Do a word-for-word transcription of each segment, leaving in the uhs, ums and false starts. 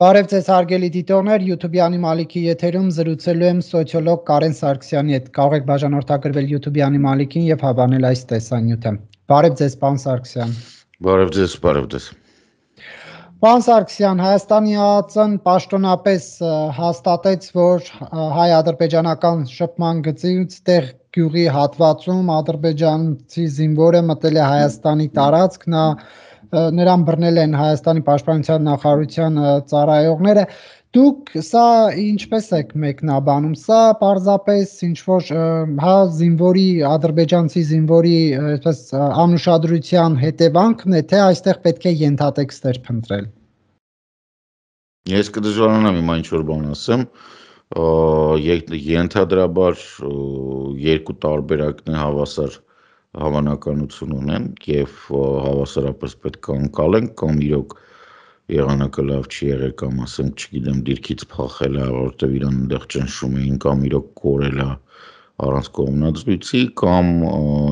Բարև ձեզ հարգելի դիտողներ, YouTube-յանի Մալիքի եթերում զրուցելու եմ սոցիոլոգ Կարեն Սարգսյանի հետ։ Կարող եք բաժանորդագրվել YouTube-յանի Մալիքին եւ հավանել այս տեսանյութը։ Բարև ձեզ, պարոն Սարգսյան։ Բարև ձեզ, բարև ձեզ։ Պարոն Սարգսյան, Հայաստանի ԱԱԾ-ն պաշտոնապես հաստատեց, որ հայ-ադրբեջանական շփման գծից տեղ գյուղի հատվածում ադրբեջանցի զինվորը մտել է Հայաստանի տարածք, նա նրան բռնել են Հայաստանի պաշտպանության նախարարության ծառայողները։ Դուք սա ինչպես եք մեկնաբանում, սա պարզապես ինչ-որ հա զինվորի, ադրբեջանցի զինվորի այսպես անուշադրության հետևանքն է, թե այստեղ պետք է ենթատեքստեր փնտրել։ Ես կդժվարանամ հիմա ինչ-որ բան ասեմ, ենթադրաբար երկու տարբերակն է հավասար հավանականություն ունեն եւ հավասարապես պետք է անցալենք կամ իրոք եղանակը լավ չի եղել կամ ասենք չգիտեմ դիրքից փախել է որովհետեւ իրան այնտեղ ճնշում էին կամ իրոք կորել է առանց կողմնացույցի կամ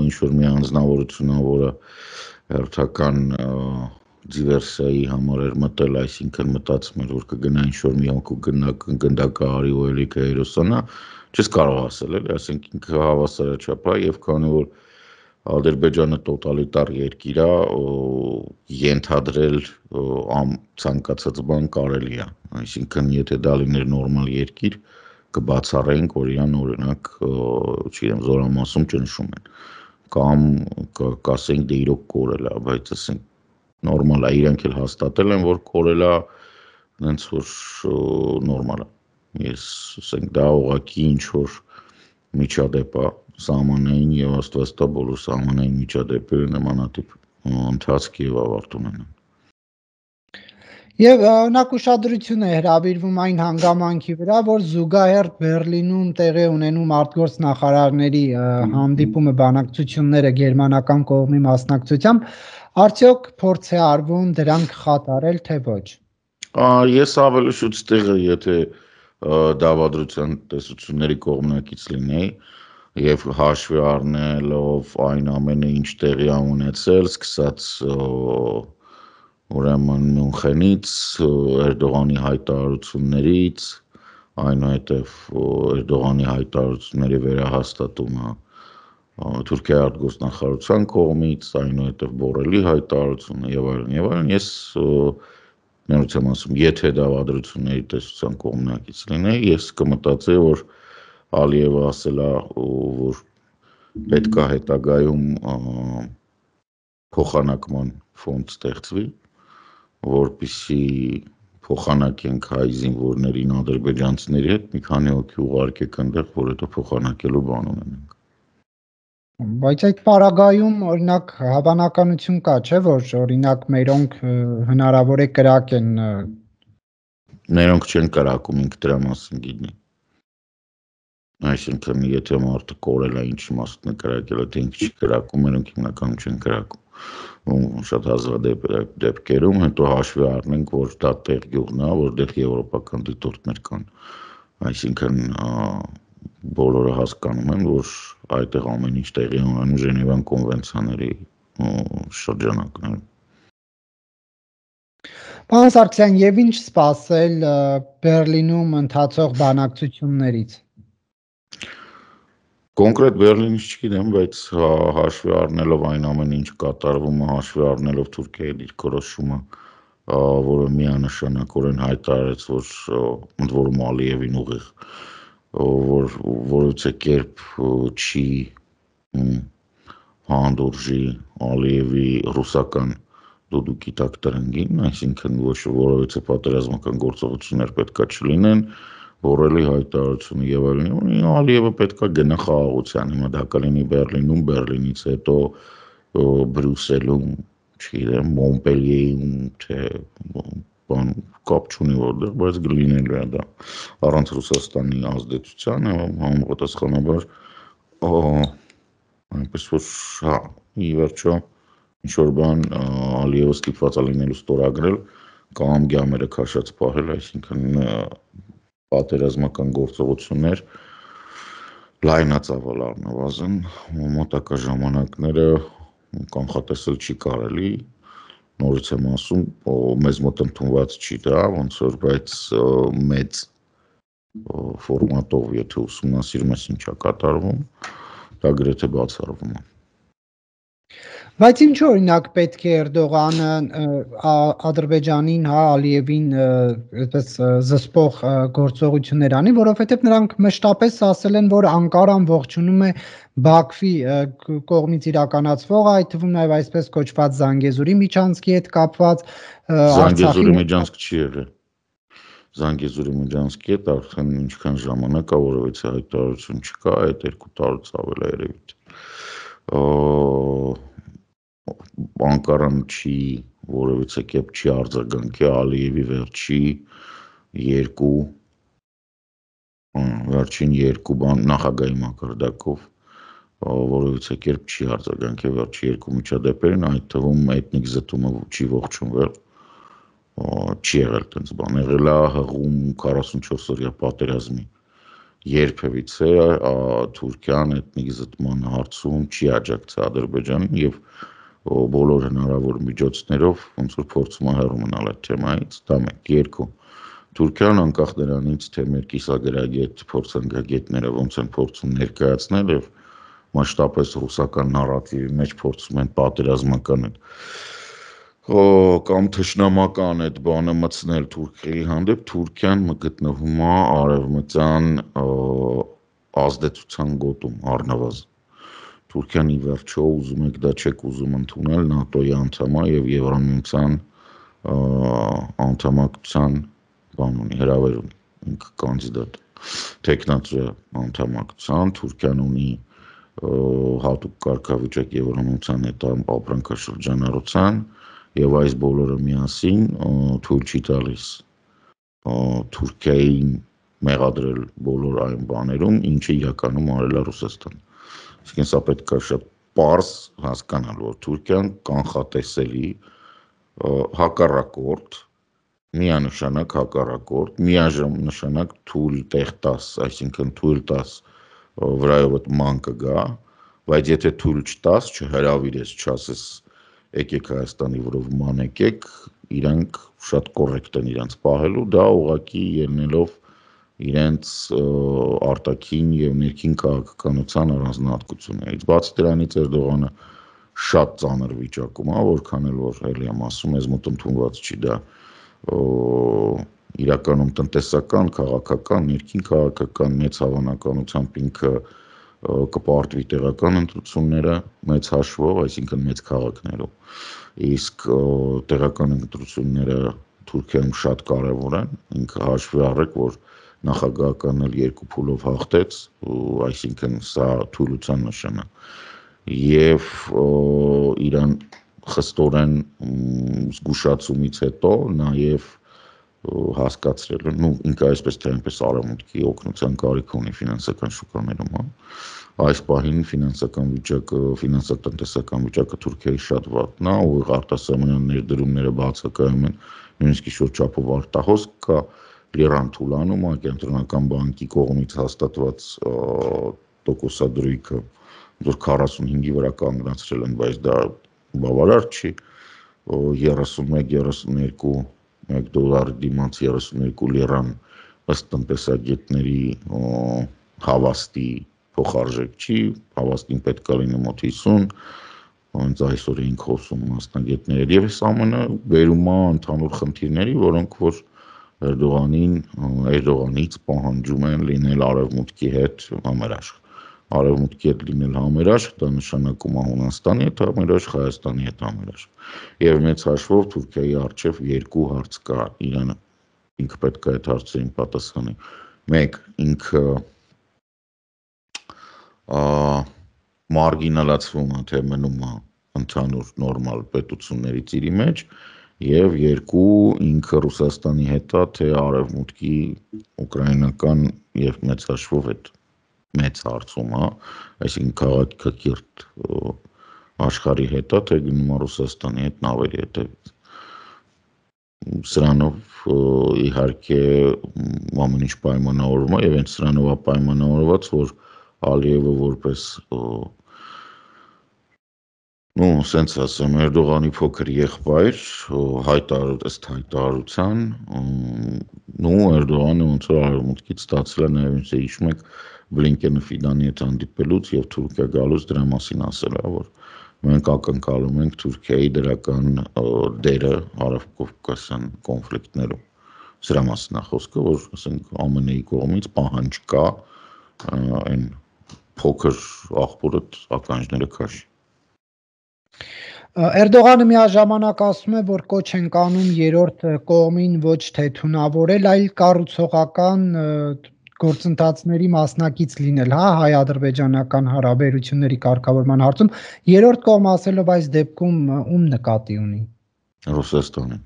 ինչ որ մի անձնավորություն ա որը հերթական դիվերսիայի համար էր մտել, այսինքն մտածում էր որ կգնա ինչ որ մի անկու գնդակահարի ու ելիքը հերոսանա, չես կարող ասել էլի, ասենք ինքը հավասարաչափ է եւ քանի որ Ադրբեջանը տոտալիտար երկիր է, ենթադրել ցանկացած բան կարելի է, այսինքն եթե դա լիներ նորմալ երկիր, կբացառեինք, որ իրան օրինակ, չգիտեմ, զորամասում ճնշում են, կամ կասենք դե իրոք կորել է, բայց ասենք նորմալ է, իրանք էլ հաստատել են, որ կորել է, հենց որ նորմալ է, ես ասենք դա ուղղակի ինչ որ միջադեպ է սահմանային եւ աստված տա բոլոր սահմանային միջադեպերը նմանատիպ ընթացք եւ ավարտ ունենան։ Եվ օրինակ ուշադրություն է հրավիրվում այն հանգամանքի վրա, որ զուգահեռ Բեռլինում տեղի ունենում արտգործ նախարարների հանդիպումը բանակցությունները գերմանական կողմի մասնակցությամբ, արդյոք փորձ է արվում դրանք խաթարել, թե ոչ։ Ես ավելի շուտ տեղը, եթե դավադրության տեսությունների կողմնակից լինեի եւ հաշվի առնելով այն ամենը ինչ տեղի ա ունեցել, սկսած ուրեմն Մյունխենից, Էրդողանի հայտարարություններից, այնուհետև Էրդողանի հայտարարությունների վերահաստատումը Թուրքիայի արտգործնախարարության կողմից, այնուհետև Բորելի հայտարարությունը եւ այլն եւ այլն, ես ներողություն ասում, եթե դավադրությունների տեսության կողմնակից լինեի, ես կմտածեի, որ Ալիևը ասել է, որ պետք է հետագայում փոխանակման ֆոնդ ստեղծվի, որպեսզի փոխանակենք հայ զինվորներին ադրբեջանցիների հետ, մի քանի հոգի ուղարկեք այնտեղ, որ հետո փոխանակելու բան ունենանք։ Բայց այդ պարագայում օրինակ հավանականություն կա, չէ՞ որ օրինակ մերոնք հնարավոր է կրակեն։ Մերոնք չեն կրակում, ինքը դրա մասին գիտի։ Այսինքն եթե մարդը կորել է ինչ իմաստն է կրակել, թե ինքը չի կրակում, մերոնք հիմնականում չեն կրակում։ Շատ հազվադեպ դեպքերում հետո հաշվի առնենք, որ դա տեղ գյուղն է, որտեղ եվրոպական դիտորդներ կան։ Այսինքն բոլորը հասկանում են, որ այդտեղ ամեն ինչ տեղի ունենում Ժենևան կոնվենցիաների շրջանակներում։ Պարոն Սարգսյան, եւ ինչ սպասել Բեռլինում ընթացող բանակցություններից։ Կոնկրետ Բեռլինից չգիտեմ, բայց հաշվի առնելով այն ամենը, ինչ կատարվում է, հաշվի առնելով Թուրքիայի դիրքորոշումը, որը միանշանակորեն հայտարարեց, որ ընդ որում Ալիևին ուղիղ, որ որևէ կերպ չի հանդուրժի Ալիևի ռուսական դուդուկի տակ տրնգին, այսինքն ոչ որևէ պատերազմական գործողություններ պետքա չլինեն, Բորելի հայտարարությունը եւ այլն, Ալիևը պետքա գնա խաղաղության, հիմա դա կլինի Բեռլինում, Բեռլինից հետո Բրյուսելում, չգիտեմ, Մոնպելիեում, թե բան կապ չունի որտեղ, բայց գլինելու է դա առանց Ռուսաստանի ազդեցության, համապատասխանաբար այնպես որ հա, ի վերջո ինչ որ բան Ալիևը ստիպված է լինելու ստորագրել կամ գամերը քաշած պահել, այսինքն պատերազմական գործողություններ լայնածավալ առնվազն մոտակա ժամանակները կանխատեսել չի կարելի, նորից եմ ասում, մեզ մոտ ընդունված չի դա, ոնց որ բայց մեծ ֆորմատով, եթե ուսումնասիրում ես ինչա կատարվում, դա գրեթե բացառվում է։ Բայց ինչ օրինակ պետք է Էրդողանը Ադրբեջանին, հա, Ալիևին այդպես զսպող գործողություններ անի, որովհետև նրանք մշտապես ասել են, որ Անկարան ողջունում է Բաքվի կողմից իրականացվող, այդ թվում նաև այսպես կոչված Զանգեզուրի միջանցքի հետ կապված Զանգեզուրի միջանցք չի եղել։ Զանգեզուրի միջանցքի հետ արդեն ինչքան ժամանակ է, որովհետեւ հայտարարություն չկա, այդ երկու տարուց ավել է երևի։ Անկարան չի որևիցե կերպ չի արձագանքի Ալիևի վերջի երկու վերջին երկու բան նախագահի մակարդակով որևիցե կերպ չի արձագանքի վերջի երկու միջադեպերին, այդ թվում էթնիկ զտումը չի ողջունվել, չի եղել տենց բան, եղել է հղում քառասունչորս օրյա պատերազմի երբևիցե Թուրքիան էթնիկ զտման հարցում չի աջակցել Ադրբեջանին եւ բոլոր հնարավոր միջոցներով ոնց որ փորձում է հեռու մնալ այդ թեմայից, դա մեկ, երկու Թուրքիան անկախ նրանից, թե մեր կիսագրագետ փորձանկագետները ոնց են փորձում ներկայացնել եւ մասշտաբես ռուսական նարատիվի մեջ փորձում են պատերազմական այդ կամ թշնամական այդ բանը մտցնել Թուրքիայի հանդեպ, Թուրքիան գտնվում է արևմտյան ազդեցության գոտում առնվազն։ Թուրքիան ի վերջո ուզում եք դա չեք ուզում ընդունել ՆԱՏՕ-ի անդամ է եւ Եվրամիության անդամակցության բան ունի, հրավեր ունի, ինքը կանդիդատ տեխնացու անդամակցության, Թուրքիան ունի հատուկ կարգավիճակ Եվրամիության հետ ապրանքաշրջանառության եւ այս բոլորը միասին թույլ չի տալիս Թուրքիային մեղադրել բոլոր այն բաներում, ինչը իրականում արել է Ռուսաստանը։ Այսինքն սա պետք է շատ պարզ հասկանալ, որ Թուրքիան կանխատեսելի հակառակորդ, միանշանակ հակառակորդ, միաժամանակ թույլ տեղ տաս, այսինքն թույլ տաս վրայով ման կգա, բայց եթե թույլ չտաս, չհրավիրես, չասես եկեք Հայաստանի վրով ման եկեք, իրանք շատ կոռեկտ են իրանց պահելու, դա ուղղակի ելնելով իրենց արտաքին եւ ներքին քաղաքականության առանձնահատկություններից։ Բացի դրանից Էրդողանը շատ ծանր վիճակում է, որքան էլ որ ելի եմ ասում, ես մոտ ընդունված չի դա իրականում տնտեսական, քաղաքական, ներքին քաղաքական մեծ հավանականությամբ ինքը կպարտվի տեղական ընտրությունները մեծ հաշվով, այսինքն մեծ քաղաքներով, իսկ տեղական ընտրությունները Թուրքիայում շատ կարևոր են, ինքը հաշվի առեք, որ նախագահականն էլ երկու փուլով հաղթեց, այսինքն սա թույլության նշան է, եւ իրան խստորեն զգուշացումից հետո նաեւ հասկացրել են, ինքը այսպես թե այնպես արևմուտքի օգնության կարիք ունի ֆինանսական շուկաներում, հա։ Այս պահին ֆինանսական վիճակը, ֆինանսատնտեսական վիճակը Թուրքիայի շատ վատն է, ուղիղ արտասահմանյան ներդրումները բացակայում են, նույնիսկ ինչ-որ չափով արտահոսք կա, լիրան թուլանում է, կենտրոնական բանկի կողմից հաստատված տոկոսադրույքը, որ քառասունհինգի վրա կանգնացրել են, բայց դա բավարար չի, երեսունմեկ երեսունյոթ մեկ դոլարի դիմաց երեսունյոթ լիրան ըստ տնտեսագետների հավաստի փոխարժեք չի, հավաստին պետք է լինի մոտ հիսուն, հենց այսօր էինք խոսում մասնագետներ եւ այս ամենը վերում է ընդհանուր խնդիրների, որոնք որ Էրդողանին, Էրդողանից պահանջում են լինել արևմուտքի հետ համերաշխ։ Արևմուտքի հետ լինել համերաշխ, դա նշանակում է Հունաստանի հետ համերաշխ, Հայաստանի հետ համերաշխ։ Եվ մեծ հաշվով Թուրքիայի առջև երկու հարց կա, իրանը ինքը պետք է այդ հարցերին պատասխանի։ Մեկ, ինքը մարգինալացվում է, թե մնում է ընդհանուր նորմալ պետությունների ծիրի մեջ, եւ երկու, ինքը Ռուսաստանի հետ է, թե արևմուտքի ուկրաինական եւ մեծ հաշվով այդ մեծ հարցում է, այսինքն քաղաքակիրթ աշխարհի հետ է, թե գնում է Ռուսաստանի հետ նավերի հետևից։ Սրանով իհարկե ամեն ինչ պայմանավորվում է եւ հենց սրանով է պայմանավորված, որ Ալիևը որպես Ну, սենց ասեմ, Էրդողանի փոքր եղբայր, հայտարարություն, ըստ հայտարարության, ну, Էրդողանը ոնց որ արևմուտքից ստացել է նաև ինձ հիշում եք Բլինկենը Ֆիդանի հետ հանդիպելուց եւ Թուրքիա գալուց դրա մասին ասել է, որ մենք ակնկալում ենք Թուրքիայի դրական դերը Հարավկովկասյան կոնֆլիկտներում։ Սրա մասին է խոսքը, որ ասենք ԱՄՆ-ի կողմից պահանջ կա այն փոքր աղբորը ականջները քաշի։ Էրդողանը միաժամանակ ասում է, որ կոչ են կանում երրորդ կողմին ոչ թե թունավորել, այլ կառուցողական գործընթացների մասնակից լինել, հա, հայ-ադրբեջանական հարաբերությունների կարգավորման հարցում, երրորդ կողմ ասելով այս դեպքում ում նկատի ունի։ Ռուսաստանին։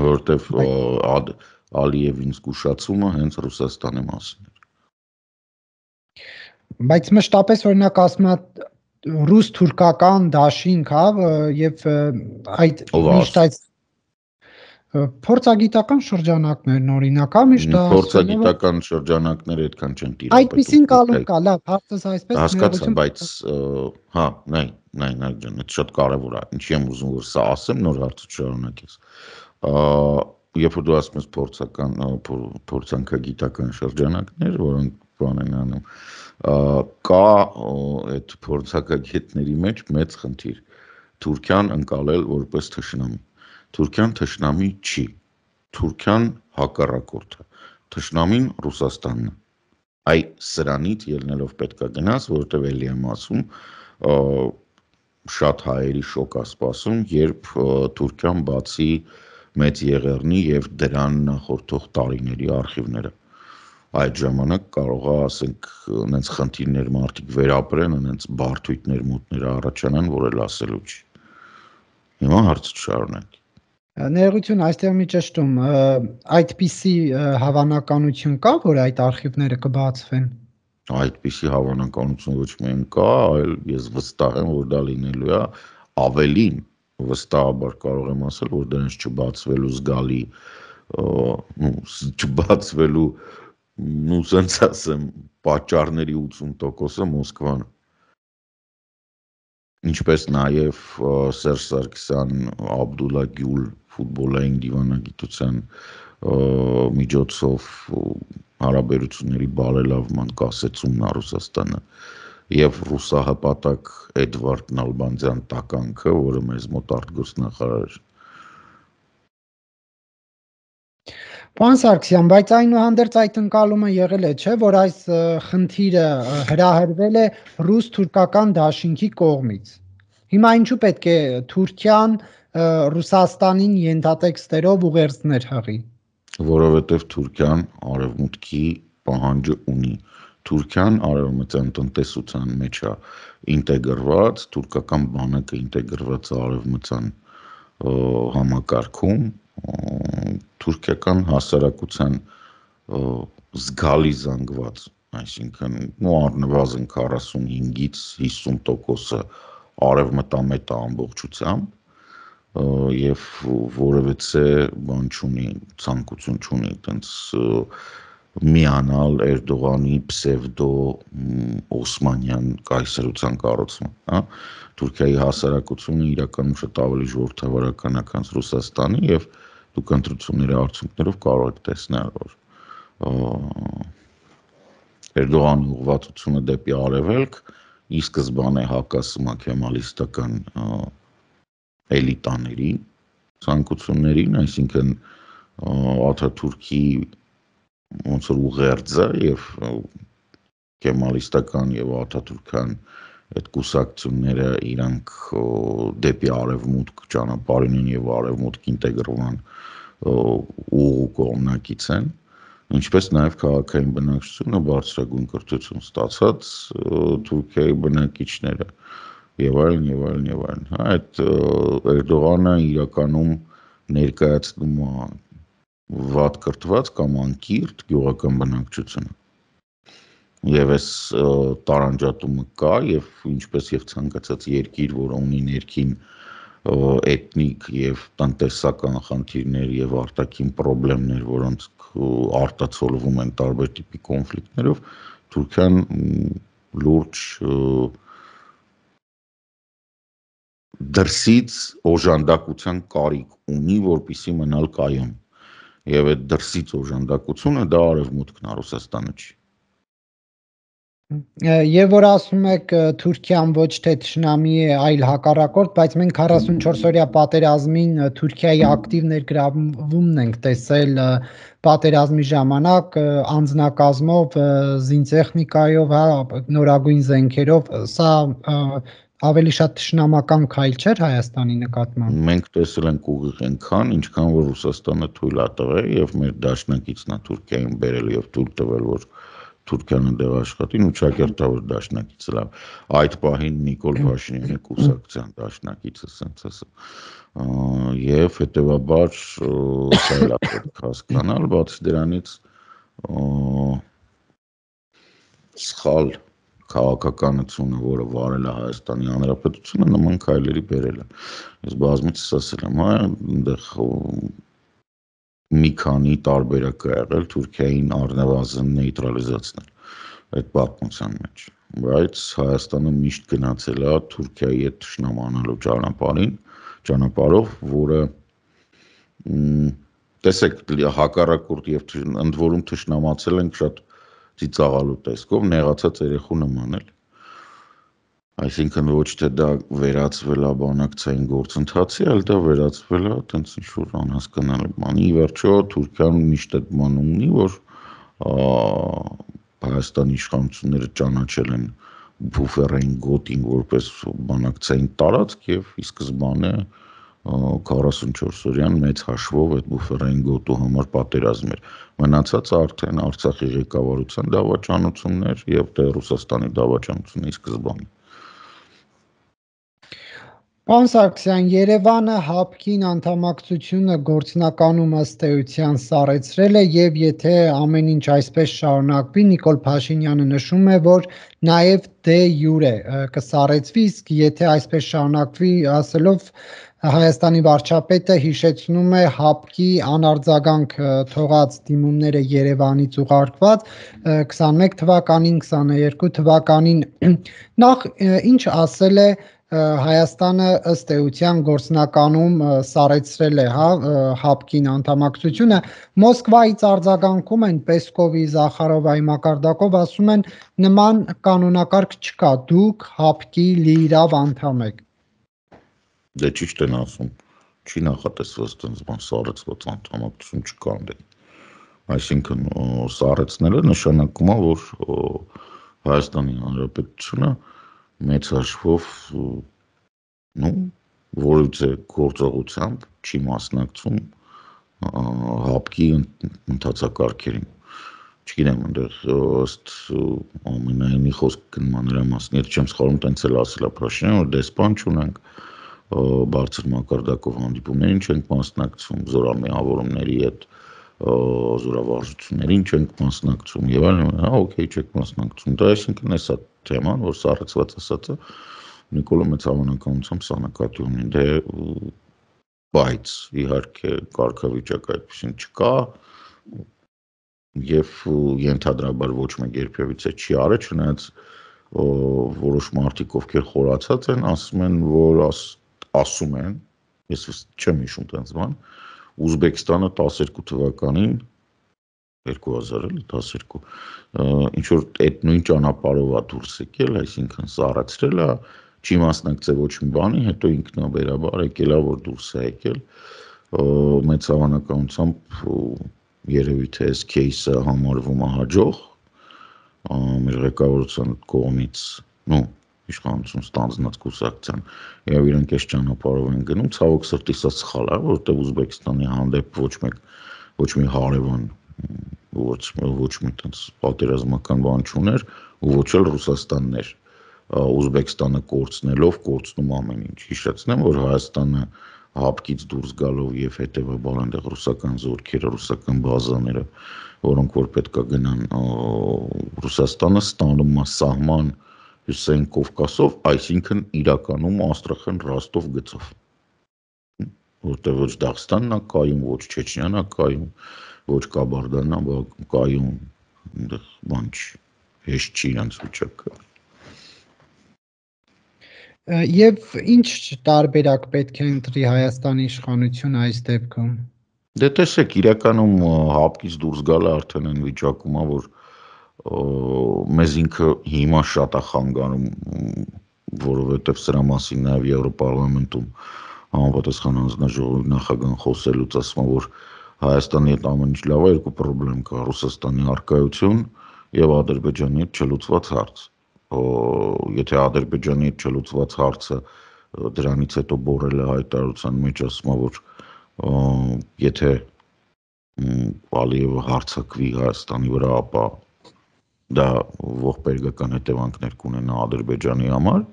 Որովհետև Ալիևին զգուշացումը հենց Ռուսաստանի մասին էր։ Բայց մշտապես օրինակ ասում է ռուս-թուրքական դաշինք, հա, եւ այդ միշտ այդ փորձագիտական շրջանակներն օրինակ, հա, միշտ դա փորձագիտական շրջանակները այդքան չեն տիրապետում։ Այդպեսին կալում կա, լավ, հարցս այսպես հասկացա, բայց հա, նայ, նայ, նայ ջան, դա շատ կարևոր է։ Ինչի եմ ուզում որ սա ասեմ, նոր հարցը շարունակես։ Երբ որ դու ասում ես փորձական փորձանքագիտական շրջանակներ, որոնք բան են անում, կա այդ փորձակագետների մեջ մեծ խնդիր Թուրքիան ընկալել որպես թշնամի։ Թուրքիան թշնամի չի, Թուրքիան հակառակորդը, թշնամին Ռուսաստանն է։ Այ սրանից ելնելով պետքա գնաս, որովհետև էլի եմ ասում, շատ հայերի շոկ է սպասում, երբ Թուրքիան բացի մեծ եղեռնի եւ դրան նախորդող տարիների արխիվները։ Այդ ժամանակ կարող է, ասենք, այնց խնդիրներ մարդիկ վերապրեն, այնց բարդույթներ մուտներ առաջանան, որ էլ ասելու չի։ Հիմա հարցը շարունակ։ Ներողություն, այստեղ մի ճշտում, այդպիսի հավանականություն կա, որ այդ արխիվները կբացվեն։ Այդպիսի հավանականություն ոչ միայն կա, այլ ես վստահ եմ, որ դա լինելու է, ավելին վստահաբար կարող եմ ասել, որ դրանց չբացվելու զգալի, ну, չբացվելու ну, սենց ասեմ, պատճառների ութսուն տոկոսը Մոսկվան։ Ինչպես նաև Սերժ Սարգսյան Աբդուլլա Գյուլ ֆուտբոլային դիվանագիտության միջոցով հարաբերությունների բարելավման կասեցումն է Ռուսաստանը եւ ռուսահպատակ Էդվարդ Նալբանդյան տականքը, որը մեզ մոտ արտգործնախարար էր։ Պարոն Սարգսյան, բայց այնուհանդերձ այդ ընկալումը եղել է, չէ, որ այս խնդիրը հրահրվել է ռուս-թուրքական դաշինքի կողմից։ Հիմա ինչու պետք է Թուրքիան Ռուսաստանին ենթատեքստերով ուղերձներ հղի։ Որովհետև Թուրքիան արևմուտքի պահանջը ունի։ Թուրքիան արևմտյան տնտեսության մեջ է ինտեգրված, թուրքական բանակը ինտեգրված է արևմտյան համակարգում, թուրքական հասարակության զգալի զանգված, այսինքն ու առնվազն քառասունհինգից հիսուն տոկոսը արևմտամետ է ամբողջությամբ եւ որևէ բան չունի, ցանկություն չունի այտենց միանալ Էրդողանի պսևդո օսմանյան կայսրության կառուցման, հա, Թուրքիայի հասարակությունը իրականում շատ ավելի ժողովրդավարական է, քան Ռուսաստանի եւ դուք ընտրությունների արդյունքներով կարող եք տեսնել, որ Էրդողանի ուղղվածությունը դեպի արևելք ի սկզբանե հակասում է քեմալիստական էլիտաների ցանկություններին, այսինքն Աթաթուրքի ոնց որ ուղերձը եւ քեմալիստական եւ աթաթուրքյան այդ կուսակցությունները իրանք դեպի արևմուտք ճանապարհին են եւ արևմուտք ինտեգրման ուղու կողմնակից են, ինչպես նաեւ քաղաքային բնակչությունը բարձրագույն կրթություն ստացած Թուրքիայի բնակիչները եւ այլն եւ այլն եւ այլն։ Այդ Էրդողանը իրականում ներկայացնում է վատ կրթված կամ անկիրթ գյուղական բնակչությունը։ Եվ այս տարանջատումը կա եւ ինչպես եւ ցանկացած երկիր, որ ունի ներքին էթնիկ եւ տնտեսական խնդիրներ եւ արտաքին խնդիրներ, որոնց արտացոլվում են տարբեր տիպի կոնֆլիկտներով, Թուրքիան լուրջ դրսից օժանդակության կարիք ունի, որպեսզի մնալ կայուն։ Եվ այդ դրսից օժանդակությունը դա արևմուտքն է, Ռուսաստանը չի։ Եվ որ ասում եք Թուրքիան ոչ թե թշնամի է, այլ հակառակորդ, բայց մենք քառասունչորս-օրյա պատերազմին Թուրքիայի ակտիվ ներգրավումն ենք տեսել պատերազմի ժամանակ անձնակազմով, զինտեխնիկայով, հա, նորագույն զենքերով, սա ավելի շատ թշնամական քայլ չէր Հայաստանի նկատմամբ։ Մենք տեսել ենք ուղիղ այնքան, ինչքան որ Ռուսաստանը թույլ է տվել եւ մեր դաշնակիցն է Թուրքիային բերել եւ թույլ տվել, որ Թուրքիան դեղ աշխատին ու ճակերտավոր դաշնակիցը լավ։ Այդ պահին Նիկոլ Փաշինյանի կուսակցության դաշնակիցը սենց ասա։ Եվ հետեւաբար սա էլ է պետք հասկանալ, բացի դրանից սխալ քաղաքականությունը, որը վարել է Հայաստանի Հանրապետությունը, նման քայլերի բերել է։ Ես բազմիցս ասել եմ, հա, այնտեղ մի քանի տարբերակ է եղել Թուրքիային առնվազն նեյտրալիզացնել այդ պատմության մեջ, բայց Հայաստանը միշտ գնացել է Թուրքիայի հետ թշնամանալու ճանապարհին, ճանապարհով, որը տեսեք հակառակորդ եւ ընդ որում թշնամացել ենք շատ ծիծաղալու տեսքով, նեղացած երեխու նման էլ։ Այսինքն ոչ թե դա վերածվել է բանակցային գործընթացի, այլ դա վերածվել է այտենց ինչ-որ անհասկանալի բանի։ Ի վերջո Թուրքիան միշտ այդ բանը ունի, որ Հայաստանի իշխանությունները ճանաչել են բուֆերային գոտին որպես բանակցային տարածք եւ ի սկզբանե քառասունչորս-օրյան մեծ հաշվով այդ բուֆերային գոտու համար պատերազմ էր։ Մնացածը արդեն Արցախի ղեկավարության դավաճանություններ եւ դե Ռուսաստանի դավաճանությունների սկզբանը։ Պարոն Սարգսյան, Երևանը ՀԱՊԿ-ին անդամակցությունը գործնականում ըստ էության սառեցրել է եւ եթե ամեն ինչ այսպես շարունակվի, Նիկոլ Փաշինյանը նշում է, որ նաեւ դե յուրե կսառեցվի, իսկ եթե այսպես շարունակվի, ասելով Հայաստանի վարչապետը հիշեցնում է ՀԱՊԿ-ի անարձագանք թողած դիմումները Երևանից ուղարկված քսանմեկ թվականին, քսաներկու թվականին, նախ ինչ ասել է Հայաստանը ըստ էության գործնականում սառեցրել է, հա, ՀԱՊԿ-ին անդամակցությունը, Մոսկվայից արձագանքում են Պեսկովի, Զախարովայի մակարդակով, ասում են նման կանոնակարգ չկա, դուք ՀԱՊԿ-ի լիիրավ անդամ եք։ Դե ճիշտ են ասում, չի նախատեսված այդպես բան սառեցված անդամակցություն չկա դե։ Այսինքն սառեցնելը նշանակում է, որ Հայաստանի Հանրապետությունը մեծ հաշվով նու որևէ գործողությամբ չի մասնակցում ՀԱՊԿ-ի ընթացակարգերին։ Չգիտեմ, այնտեղ ըստ ամենայնի խոսք գնման նրա մասին, եթե չեմ սխալվում, տենց էլ ասել է Փաշինյանը, որ դեսպան չունենք, բարձր մակարդակով հանդիպումներին չենք մասնակցում, զորամիավորումների հետ զորավարժություններին չենք մասնակցում եւ այլն, հա, օքեյ, չեք մասնակցում։ Դա այսինքն էսա թեման, որ սառեցված ասածը Նիկոլը մեծ հավանականությամբ սա նկատի ունի, դե բայց իհարկե կարգավիճակ այդպեսին չկա եւ ենթադրաբար ոչ մեկ երբևիցե չի արել, չնայած որոշ մարդիկ ովքեր խորացած են, ասում են, որ ասում են, ես չեմ հիշում տենց բան, Ուզբեկստանը տասներկու թվականին երկու հազար տասներկու ինչ որ այդ նույն ճանապարհով է դուրս եկել, այսինքն սառեցրել է, չի մասնակցել ոչ մի բանի, հետո ինքնաբերաբար եկել է, որ դուրս է եկել, մեծ հավանականությամբ երևի թե այս кейսը համարվում է հաջող մեր ղեկավարության կողմից, նո իշխանություն ստանձնած կուսակցության եւ իրենք այս ճանապարհով են գնում, ցավոք սրտի սա սխալ է, որովհետեւ Ուզբեկստանի հանդեպ ոչ մեկ ոչ մի հարևան ոչ ոչ մի տես պատերազմական բան չուներ ու ոչ էլ Ռուսաստաններ Ուզբեկստանը կորցնելով կորցնում ամեն ինչ։ Հիշեցնեմ, որ Հայաստանը ՀԱՊԿ-ից դուրս գալով եւ հետեւաբար այնտեղ ռուսական զորքերը, ռուսական բազաները, որոնք որ պետքա գնան Ռուսաստանը ստանում է սահման Հյուսիսային Կովկասով, այսինքն իրականում Աստրախան Ռոստով գծով։ Որտեղ ոչ Դաղստանն է կայում, ոչ Չեչնիան է կայում, ոչ Կաբարդան է կայում, այնտեղ բան չի, հեշտ չի իրենց վիճակը։ Եվ ինչ տարբերակ պետք է ընտրի Հայաստանի իշխանությունը այս դեպքում։ Դե տեսեք, իրականում հապկից դուրս գալը արդեն այն վիճակում է, որ մեզ ինքը հիմա շատ է խանգարում, որովհետև սրա մասին նաև Եվրոպարլամենտում համապատասխան հանձնաժողովի նախագահան խոսելուց ասում է, որ Հայաստանի հետ ամեն ինչ լավ է, երկու խնդրեմ կա՝ Ռուսաստանի առկայություն եւ Ադրբեջանի հետ չլուծված հարց։ Եթե Ադրբեջանի հետ չլուծված հարցը դրանից հետո բորելը հայտարարության մեջ ասում է, որ եթե Ալիևը հարձակվի Հայաստանի վրա, ապա դա ողբերգական հետևանքներ կունենա Ադրբեջանի համար,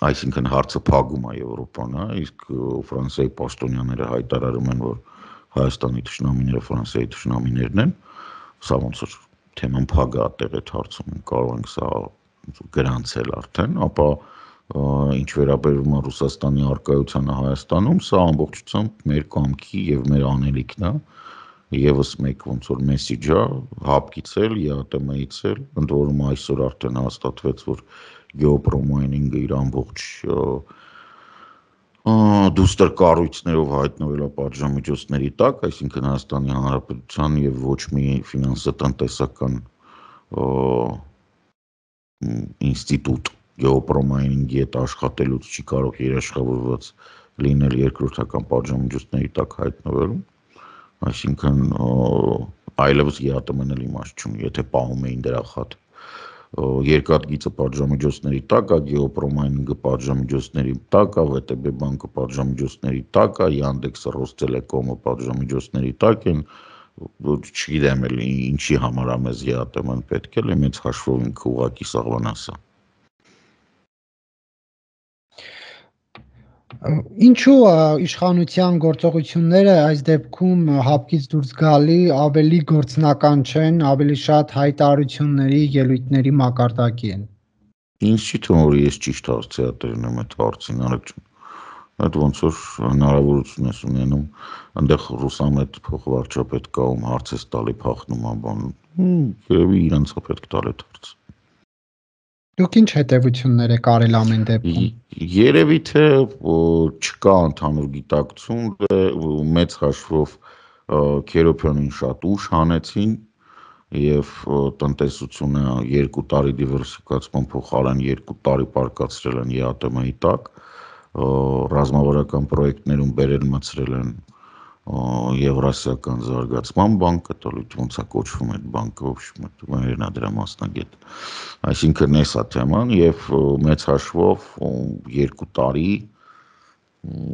այսինքն հարցը փակում է Եվրոպան, իսկ Ֆրանսիայի պաշտոնյաները հայտարարում են, որ Հայաստանի թշնամիները Ֆրանսիայի թշնամիներն են, սա ոնց որ թեման փակ է այդտեղ այդ հարցում, կարող ենք սա գրանցել արդեն, ապա ինչ վերաբերում է Ռուսաստանի առկայությանը Հայաստանում, սա ամբողջությամբ մեր կամքի եւ մեր անելիքն է, եւս մեկ ոնց որ մեսիջ է, հապկից էլ, ԵԱՏՄ-ից էլ, ընդ որում այսօր արդեն հաստատվեց, որ գեոպրոմայնինգը իր ամբողջ դուստր կառույցներով հայտնվել է պատժամիջոցների տակ, այսինքն Հայաստանի Հանրապետության եւ ոչ մի ֆինանսատնտեսական ինստիտուտ գեոպրոմայնինգի հետ աշխատելուց չի կարող երաշխավորված լինել երկրորդական պատժամիջոցների տակ հայտնվելուն, այսինքն այլևս ԵԱՏՄ-ն էլ իմաստ չունի, եթե պահում էին դրա խաթ երկաթգիծը պատժամիջոցների տակ է, գեոպրոմայնինգը պատժամիջոցների տակ է, ՎՏԲ բանկը պատժամիջոցների տակ է, Yandex-ը, Ռոստելեկոմը պատժամիջոցների տակ են, չգիտեմ էլ ինչի համար է մեզ ԵԱՏՄ-ն պետք է, մեծ հաշվով ինքը ուղղակի սաղվանաս է։ Ինչու իշխանության գործողությունները այս դեպքում հապկից դուրս գալի ավելի գործնական չեն, ավելի շատ հայտարարությունների, ելույթների մակարդակի են։ Ինձ չի թվում, որ ես ճիշտ հարցերատերն եմ այդ հարցին, Արեգ ջան։ Այդ ոնց որ հնարավորություն ես ունենում, այնտեղ Ռուսամետ փոխվարչապետ կա, ում հարց ես տալի փախնում ա բան։ Երևի իրենց է պետք տալ այդ հարցը։ Դուք ինչ հետևություններ եք արել ամեն դեպքում։ Երևի թե չկա ընդհանուր գիտակցություն, մեծ հաշվով Քերոփյանին շատ ուշ հանեցին եւ տնտեսությունը երկու տարի դիվերսիֆիկացման փոխարեն երկու տարի պարկացրել են ԵԱՏՄ-ի տակ, ռազմավարական պրոյեկտներում բերել մցրել են Եվրասիական զարգացման բանկը, տալույթ ոնց է կոչվում այդ բանկը, մերն է դրա մասնագետ։ Այսինքն էս է թեման եւ մեծ հաշվով երկու տարի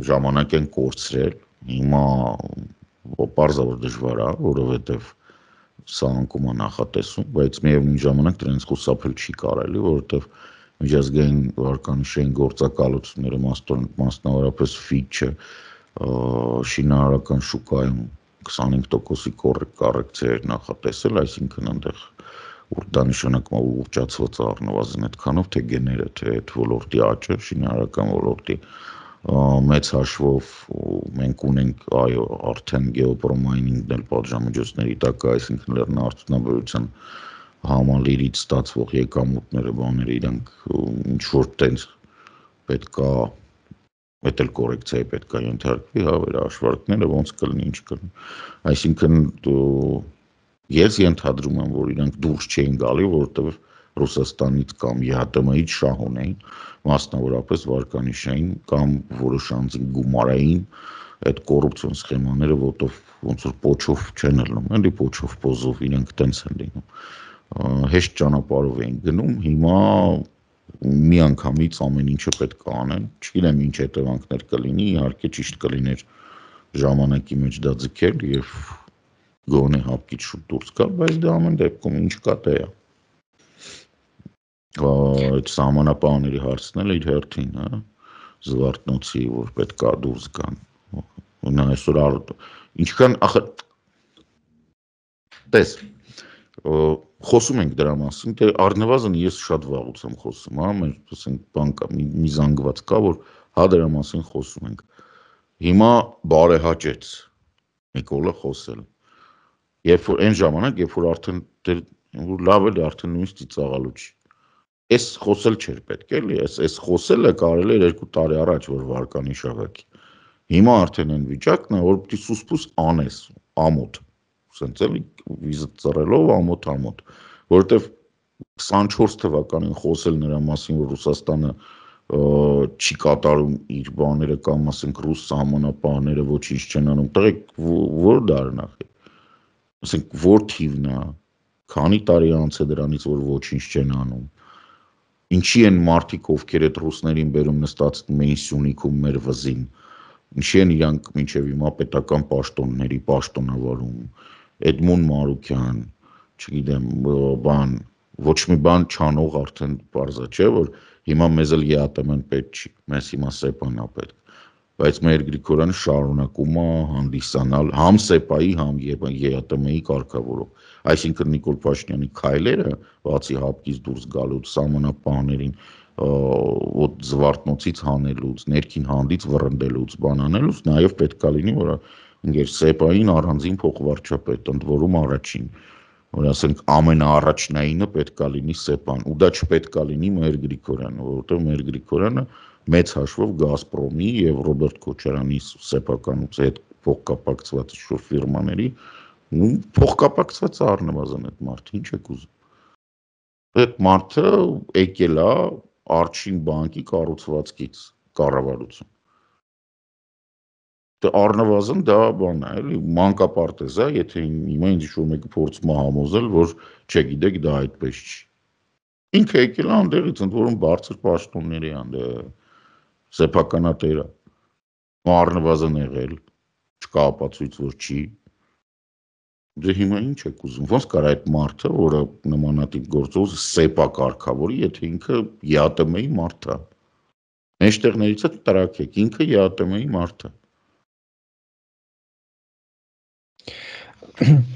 ժամանակ են կորցրել, հիմա պարզավոր դժվար է, որովհետեւ սա անկում է նախատեսում, բայց միևնույն ժամանակ դրանց խուսափել չի կարելի, որովհետեւ միջազգային վարկանիշային գործակալությունները մասնավորապես Fitch-ը շինարարական շուկայում քսանհինգ տոկոսի կոռեկցիա նախատեսել, այսինքն այնտեղ որ դա նշանակում է ուղղճացված առնվազն այդքանով, թե գեները, թե այդ ոլորտի աճը, շինարարական ոլորտի մեծ հաշվով մենք ունենք այո արդեն գեոպրոմայնինգն էլ պատժամիջոցների տակ, այսինքն լեռնարդյունաբերության համալիրից ստացվող եկամուտները, բաները իրանք ինչ որ տենց պետքա Այդ էլ կորեկցիայի պետք է ենթարկվի, հա, վերահաշվարկները ոնց կլինի, ինչ կլինի։ Այսինքն ես ենթադրում եմ, որ իրանք դուրս չէին գալի, որովհետև Ռուսաստանից կամ ԵԱՏՄ-ից շահ ունեին, մասնավորապես վարկանիշային կամ որոշ անձին գումարային այդ կոռուպցիոն սխեմաները, որտով ոնց որ պոչով չեն ելնում, էլի պոչով պոզով իրանք տենց են լինում։ Հեշտ ճանապարհով էին գնում, հիմա մի անգամից ամեն ինչը պետք է անեն, չգիտեմ ինչ հետևանքներ կլինի, իհարկե ճիշտ կլիներ ժամանակի մեջ դա ձգել եւ գոնե հապկից շուտ դուրս գալ, բայց դա ամեն դեպքում ինչ կա դա է։ Այդ սահմանապահների հարցն էլ իր հերթին, հա, Զվարթնոցի, որ պետք է դուրս գան։ Նա այսօր ինչքան ախր տես խոսում ենք դրա մասին, թե առնվազն ես շատ վաղուց եմ խոսում, հա, մեր ասենք բան կա, մի զանգված կա, որ հա դրա մասին խոսում ենք։ Հիմա բարեհաճեց Նիկոլը խոսել։ Երբ որ այն ժամանակ, երբ որ արդեն որ լավ էլ արդեն նույնիսկ ծիծաղալու չի։ Էս խոսել չէր պետք էլի, էս էս խոսելը կարելի էր երկու տարի առաջ որ վարկանի շաղակի։ Հիմա արդեն այն վիճակն է, որ պիտի սուսպուս անես, ամոթ, սենց էլի վիզը ծռելով ամոթ ամոթ, որովհետև քսանչորս թվականին խոսել նրա մասին, որ Ռուսաստանը չի կատարում իր բաները կամ ասենք ռուս սահմանապահները ոչինչ չեն անում, տղեկ որ դարն է, ասենք որ թիվն է, քանի տարի անց է դրանից որ ոչինչ չեն անում, ինչի են մարդիկ ովքեր այդ ռուսներին բերում նստածում էին Սյունիքում մեր վզին, ինչի են իրանք մինչև հիմա պետական պաշտոնների պաշտոնավարում, Էդմոն Մարուկյան, չգիտեմ, բան, ոչ մի բան չանող արդեն պարզա չէ, որ հիմա մեզ էլ ԵԱՏՄ-ն պետք չի, մեզ հիմա ՍԵՊԱ-ն է պետք, բայց մեր Գրիգորյանը շարունակում է հանդիսանալ համ ՍԵՊԱ-ի, համ ԵԱՏՄ-ի կարգավորող, այսինքն Նիկոլ Փաշինյանի քայլերը, բացի հապկից դուրս գալուց, սահմանապահներին ոտ զվարթնոցից հանելուց, ներքին հանդից վռնդելուց, բան անելուց, նաև պետք է լինի, որ ինգեր ՍԵՊԱ-ին առանձին փոխվարչապետ, ընդ որում առաջին, որ ասենք ամենաառաջնայինը պետք է լինի ՍԵՊԱ-ն, ու դա չպետք է լինի մեր Գրիգորյանը, որովհետև մեր Գրիգորյանը մեծ հաշվով Գազպրոմի եւ Ռոբերտ Քոչարյանի սեփականուց հետ փոխկապակցված շուտ ֆիրմաների, ու փոխկապակցված առնվազն այդ մարդը, ինչ եք ուզում։ Այդ մարդը եկել է Արջին բանկի կառուցվածքից կառավարություն։ Դե առնվազն դա բան է, էլի մանկապարտեզ է, եթե հիմա ինձ ինչ-որ մեկը փորձում է համոզել, որ չգիտեք դա այդպես չի։ Ինքը եկել է անդեղից, ընդ որում բարձր պաշտոնների անդե սեփականատերը, առնվազն եղել, չկա ապացույց, որ չի։ Դե հիմա ինչ եք ուզում, ոնց կար այդ մարդը, որը նմանատիպ գործով ՍԵՊԱ կարգավորի, եթե ինքը ԵԱՏՄ-ի մարդ է։ Մեջտեղներից է տրաքեք, ինքը ԵԱՏՄ-ի մարդ է։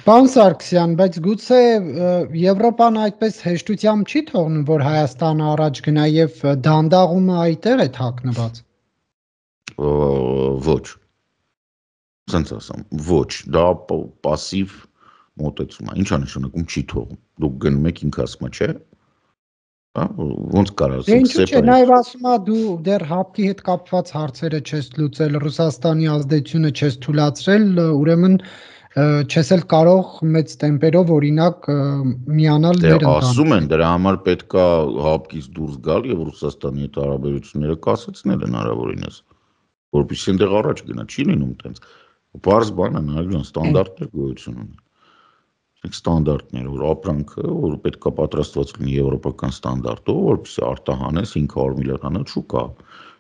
Պարոն Սարգսյան, բայց գուցե Եվրոպան այդպես հեշտությամբ չի թողնում, որ Հայաստանը առաջ գնա եւ դանդաղումը այդտեղ է թաքնված։ Ոչ։ Սենց ասեմ, ոչ, դա պասիվ մոտեցում է, ինչ է նշանակում չի թողում, դուք գնում եք ինքը ասում է, չէ, ոնց կար ասենք, ինչու՞ չէ, նաև ասում է դու դեռ հապկի հետ կապված հարցերը չես լուծել, Ռուսաստանի ազդեցությունը չես թույլատրել, ուրեմն չես էլ կարող մեծ տեմպերով օրինակ միանալ մեր ընտանիքին։ Ասում են, դրա համար պետք է հապկից դուրս գալ եւ Ռուսաստանի հետ հարաբերությունները կասեցնել հնարավորինս, որպեսզի այնտեղ առաջ գնա, չի լինում տենց։ Պարզ բան է, նայեք, ստանդարտներ գոյություն ունեն։ Ստանդարտներ, որ ապրանքը, որ պետք է պատրաստված լինի եվրոպական ստանդարտով, որպեսզի արտահանես հինգ հարյուր միլիոն շուկա։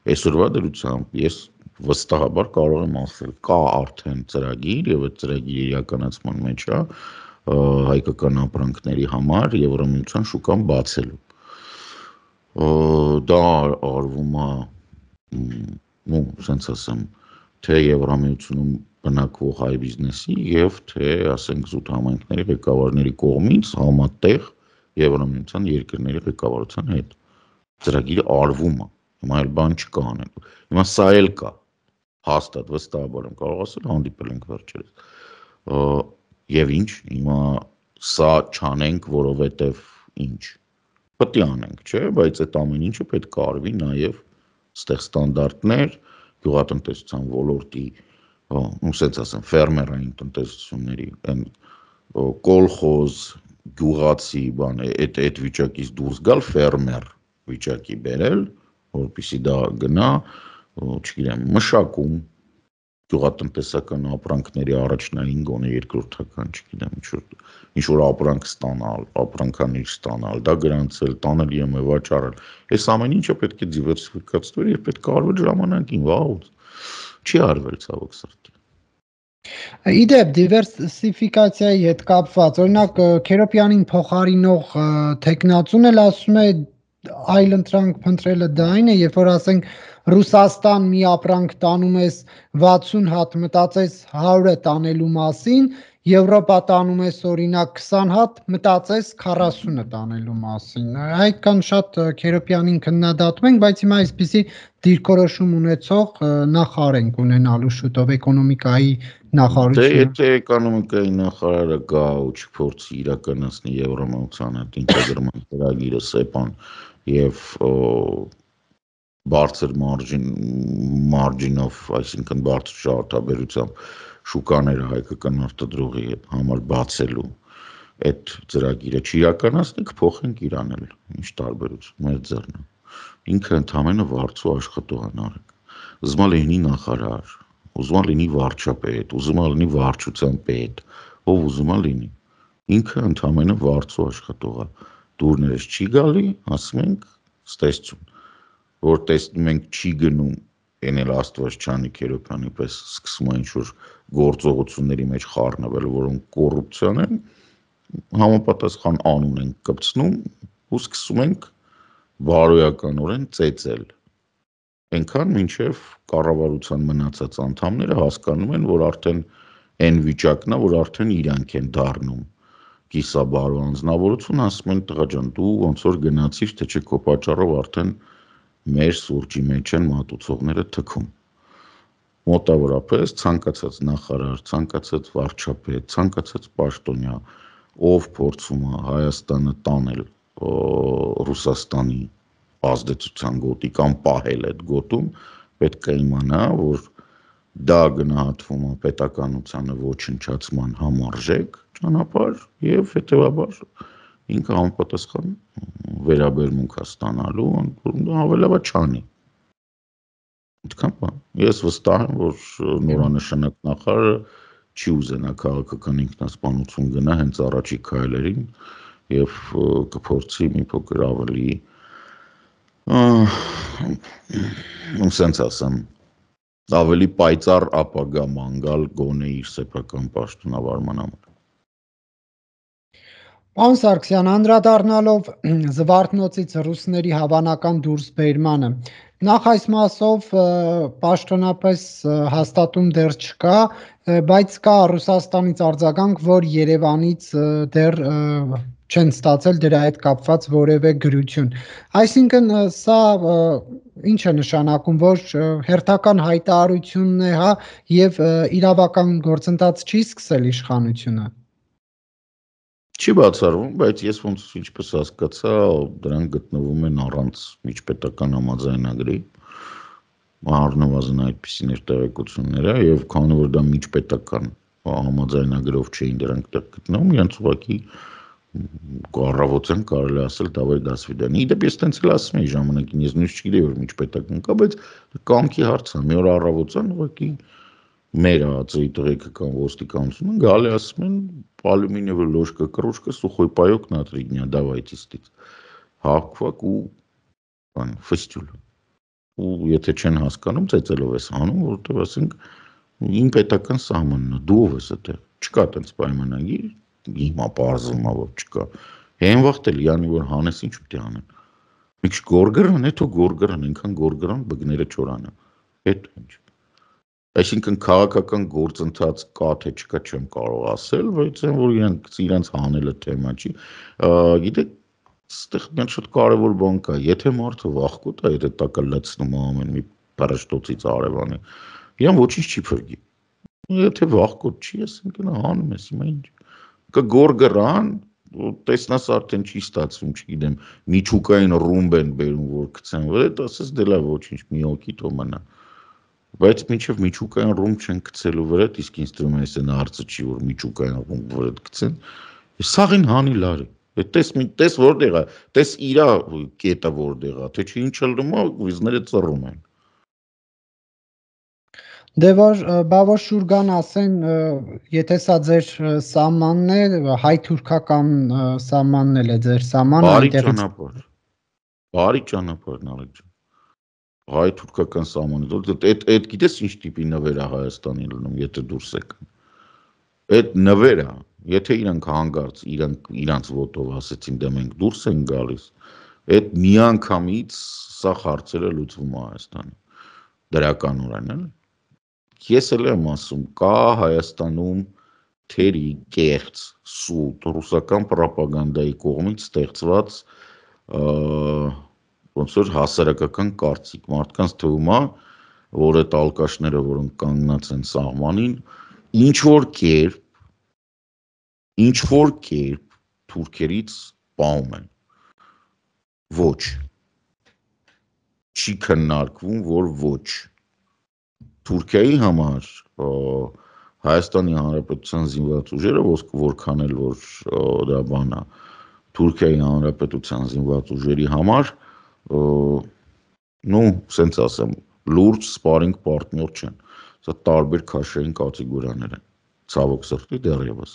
Այսօրվա դրությամբ ես վստահաբար կարող եմ ասել, կա արդեն ծրագիր եւ այդ ծրագիրի իրականացման մեջ է հայկական ապրանքների համար Եվրամիության շուկան բացելու։ Դա արվում է, ну, սենց ասեմ, թե Եվրամիությունում բնակվող հայ բիզնեսի եւ թե, ասենք, զուտ համայնքների ղեկավարների կողմից համատեղ Եվրամիության երկրների ղեկավարության հետ։ Ծրագիրը արվում է, հիմա այլ բան չկա անելու։ Հիմա սա էլ կա, հաստատ վստահաբար եմ կարող ասել, հանդիպել ենք վերջերս։ Եվ ինչ, հիմա սա չանենք, որովհետև ինչ, պետք է անենք, չէ, բայց այդ ամեն ինչը պետք է արվի նաև ստեղ ստանդարտներ, գյուղատնտեսության ոլորտի, ու սենց ասեմ, ֆերմերային տնտեսությունների, այն կոլխոզ, գյուղացի բան, այդ այդ վիճակից դուրս գալ ֆերմեր վիճակի բերել, որպեսզի դա գնա, չգիտեմ, մշակում, գյուղատնտեսական ապրանքների առաջնային գոնե երկրորդական, չգիտեմ, ինչ որ ապրանք ստանալ, ապրանքանիշ ստանալ, դա գրանցել, տանել ԵՄ վաճառել։ Այս ամեն ինչը պետք է դիվերսիֆիկացվի եւ պետք է արվի ժամանակին, վաղուց։ Չի արվել ցավոք սրտի։ Իդեպ դիվերսիֆիկացիայի հետ կապված, օրինակ Քերոպյանին փոխարինող տեխնացուն էլ ասում է այլ ընտրանք փնտրելը դա այն է, երբ որ ասենք Ռուսաստան մի ապրանք տանում ես վաթսուն հատ, մտածես հարյուրը տանելու մասին, Եվրոպա տանում ես օրինակ քսան հատ, մտածես քառասունը տանելու մասին։ Այդքան շատ Քերոպյանին քննադատում ենք, բայց հիմա այսպիսի դիրքորոշում ունեցող նախարարենք ունենալու շուտով էկոնոմիկայի նախարարությունը։ Դե եթե էկոնոմիկայի նախարարը գա ու չփորձի իրականացնի Եվրամիության հետ ինտեգրման ծրագիրը ՍԵՊԱ-ն եւ բարձր մարջին մարջինով, այսինքն բարձր շահութաբերությամբ շուկաները հայկական արտադրողի համար բացելու այդ ծրագիրը չիրականացնի, կփոխենք իրան էլ, ինչ տարբերություն մեր ձեռն է։ Ինքը ընդամենը վարձու աշխատող է Նարեկ։ Ուզում է լինի նախարար, ուզում է լինի վարչապետ, ուզում է լինի վարչության պետ, ով ուզում է լինի։ Ինքը ընդամենը վարձու աշխատող է։ Դուրներս չի գալի, ասում ենք ստեսություն, որ տեսնում ենք չի գնում, այն էլ Աստված չանի Քերոբյանի պես սկսում է ինչ-որ գործողությունների մեջ խառնվել, որոնք կոռուպցիան են, համապատասխան անուն ենք կպցնում ու սկսում ենք բարոյականորեն ծեծել։ Այնքան մինչև կառավարության մնացած անդամները հասկանում են, որ արդեն այն վիճակն է, որ արդեն իրանք են դառնում կիսաբարո անձնավորություն, ասում են տղա ջան, դու ոնց որ գնացիր, թե չէ քո պատճառով արդեն մեր սուրճի մեջ են մատուցողները թքում։ Մոտավորապես ցանկացած նախարար, ցանկացած վարչապետ, ցանկացած պաշտոնյա, ով փորձում է Հայաստանը տանել Ռուսաստանի ազդեցության գոտի կամ պահել այդ գոտում, պետք է իմանա, որ դա գնահատվում է պետականությանը ոչնչացման համարժեք ճանապարհ եւ հետեւաբար ինքը համապատասխան վերաբերմունք է ստանալու, ավելավա չանի։ Այդքան բան։ Ես վստահ եմ, որ նորանշանակ նախարարը չի ուզենա քաղաքական ինքնասպանություն գնա հենց առաջի քայլերին եւ կփորձի մի փոքր ավելի sense ասեմ ավելի պայծառ ապագա ման գալ գոնե իր սեփական պաշտոնավարման համար։ Պարոն Սարգսյան, անդրադառնալով Զվարթնոցից ռուսների հավանական դուրսբերմանը, նախ այս մասով պաշտոնապես հաստատում դեռ չկա, բայց կա Ռուսաստանից արձագանք, որ Երևանից դեռ չեն ստացել դրա հետ կապված որևէ գրություն։ Այսինքն սա ինչ է նշանակում, որ հերթական հայտարարությունն է, հա, եւ իրավական գործընթաց չի սկսել իշխանությունը։ Չի բացառվում, բայց ես ոնց ինչպես հասկացա, դրանք գտնվում են առանց միջպետական համաձայնագրի, առնվազն այդպիսիներ տեղեկությունները, եւ քանի որ դա միջպետական համաձայնագրով չէին դրանք տեղ գտնվում, իրենց ուղղակի առավոտյան կարելի ասել դավայ դասվիդանի։ Իդեպ ես տենց էլ ասում էի ժամանակին, ես նույնիսկ չգիտեի որ միջպետական կա, բայց կամքի հարց է, մի օր առավոտյան ուղղակի մեր ԱԱԾ-ի տեղեկական ոստիկանությունը գալի ասում են алюминиевая ложка, кружка, сухой паёк на три дня, давайте ստից։ Հակվակ ու բան, ֆստյուլ։ Ու եթե չեն հասկանում, ծեծելով ես անում, որովհետև ասենք իմ պետական սահմանն է, դու ով ես այդտեղ։ Չկա տենց պայմանագիր, հիմա պարզվում է որ չկա։ Այն վաղտ էլ յանի որ հանես ինչ պիտի անեն։ Մի քիչ գորգրան, հետո գորգրան, այնքան գորգրան բգները չորանը։ Հետո ինչ։ Այսինքն քաղաքական գործընթաց կա թե չկա չեմ կարող ասել, բայց այն որ իրանք իրանք հանելը թեմա չի։ Գիտեք, այստեղ մի շատ կարևոր բան կա, եթե մարդը վախկոտ է, եթե տակը լցնում է ամեն մի բարաշտոցից արևանի, իրան ոչինչ չի փրկի։ Եթե վախկոտ չի, այսինքն հանում ես, հիմա ինչ։ Կգորգրան, տեսնաս արդեն չի ստացվում, չգիտեմ, միջուկային ռումբ են բերում, որ գցեն վրա, ասես դե լավ ոչինչ, մի հոգի թող մնա։ Բայց մինչև միջուկային ռումբ չեն գցելու վրա, իսկ ինձ թվում է այսեն հարցը չի, որ միջուկային ռումբ վրա գցեն։ Սաղին հանի լարի։ Տես տես որտեղ է, տես իրա կետը որտեղ է, թե չի ինչ լնում է, վիզները ծռում են։ Դե որ բա որ շուրգան ասեն, եթե սա ձեր սահմանն է, հայ-թուրքական սահմանն էլ է ձեր սահմանը, այնտեղից բարի ճանապարհ, Նարեկ ջան։ Հայ-թուրքական սահմանը, այդ այդ գիտես ինչ տիպի նվեր է Հայաստանի լինում, եթե դուրս եկան։ Այդ նվերը, եթե իրանք հանգարց իրանք իրանք ոտով ասեցին, դե մենք դուրս ենք գալիս, այդ միանգամից սա հարցերը լուծվում է Հայաստանում։ Դրականորեն, էլի։ Ես էլ եմ ասում, կա Հայաստանում թերի կեղծ սուտ ռուսական ռոպագանդայի կողմից ստեղծված ոնց որ հասարակական կարծիք, մարդկանց թվում է, որ այդ ալկաշները, որոնք կանգնած են սահմանին, ինչ որ կերպ, ինչ որ կերպ թուրքերից պահում են։ Ոչ, չի քննարկվում, որ ոչ։ Թուրքիայի համար Հայաստանի Հանրապետության զինված ուժերը որքան էլ որ դա բանա Թուրքիայի Հանրապետության զինված ուժերի համար նու սենց ասեմ լուրջ սպարինգ պարտներ չեն։ Սա տարբեր քաշային կատեգորիաներ են։ Ցավոք սրտի դեռևս։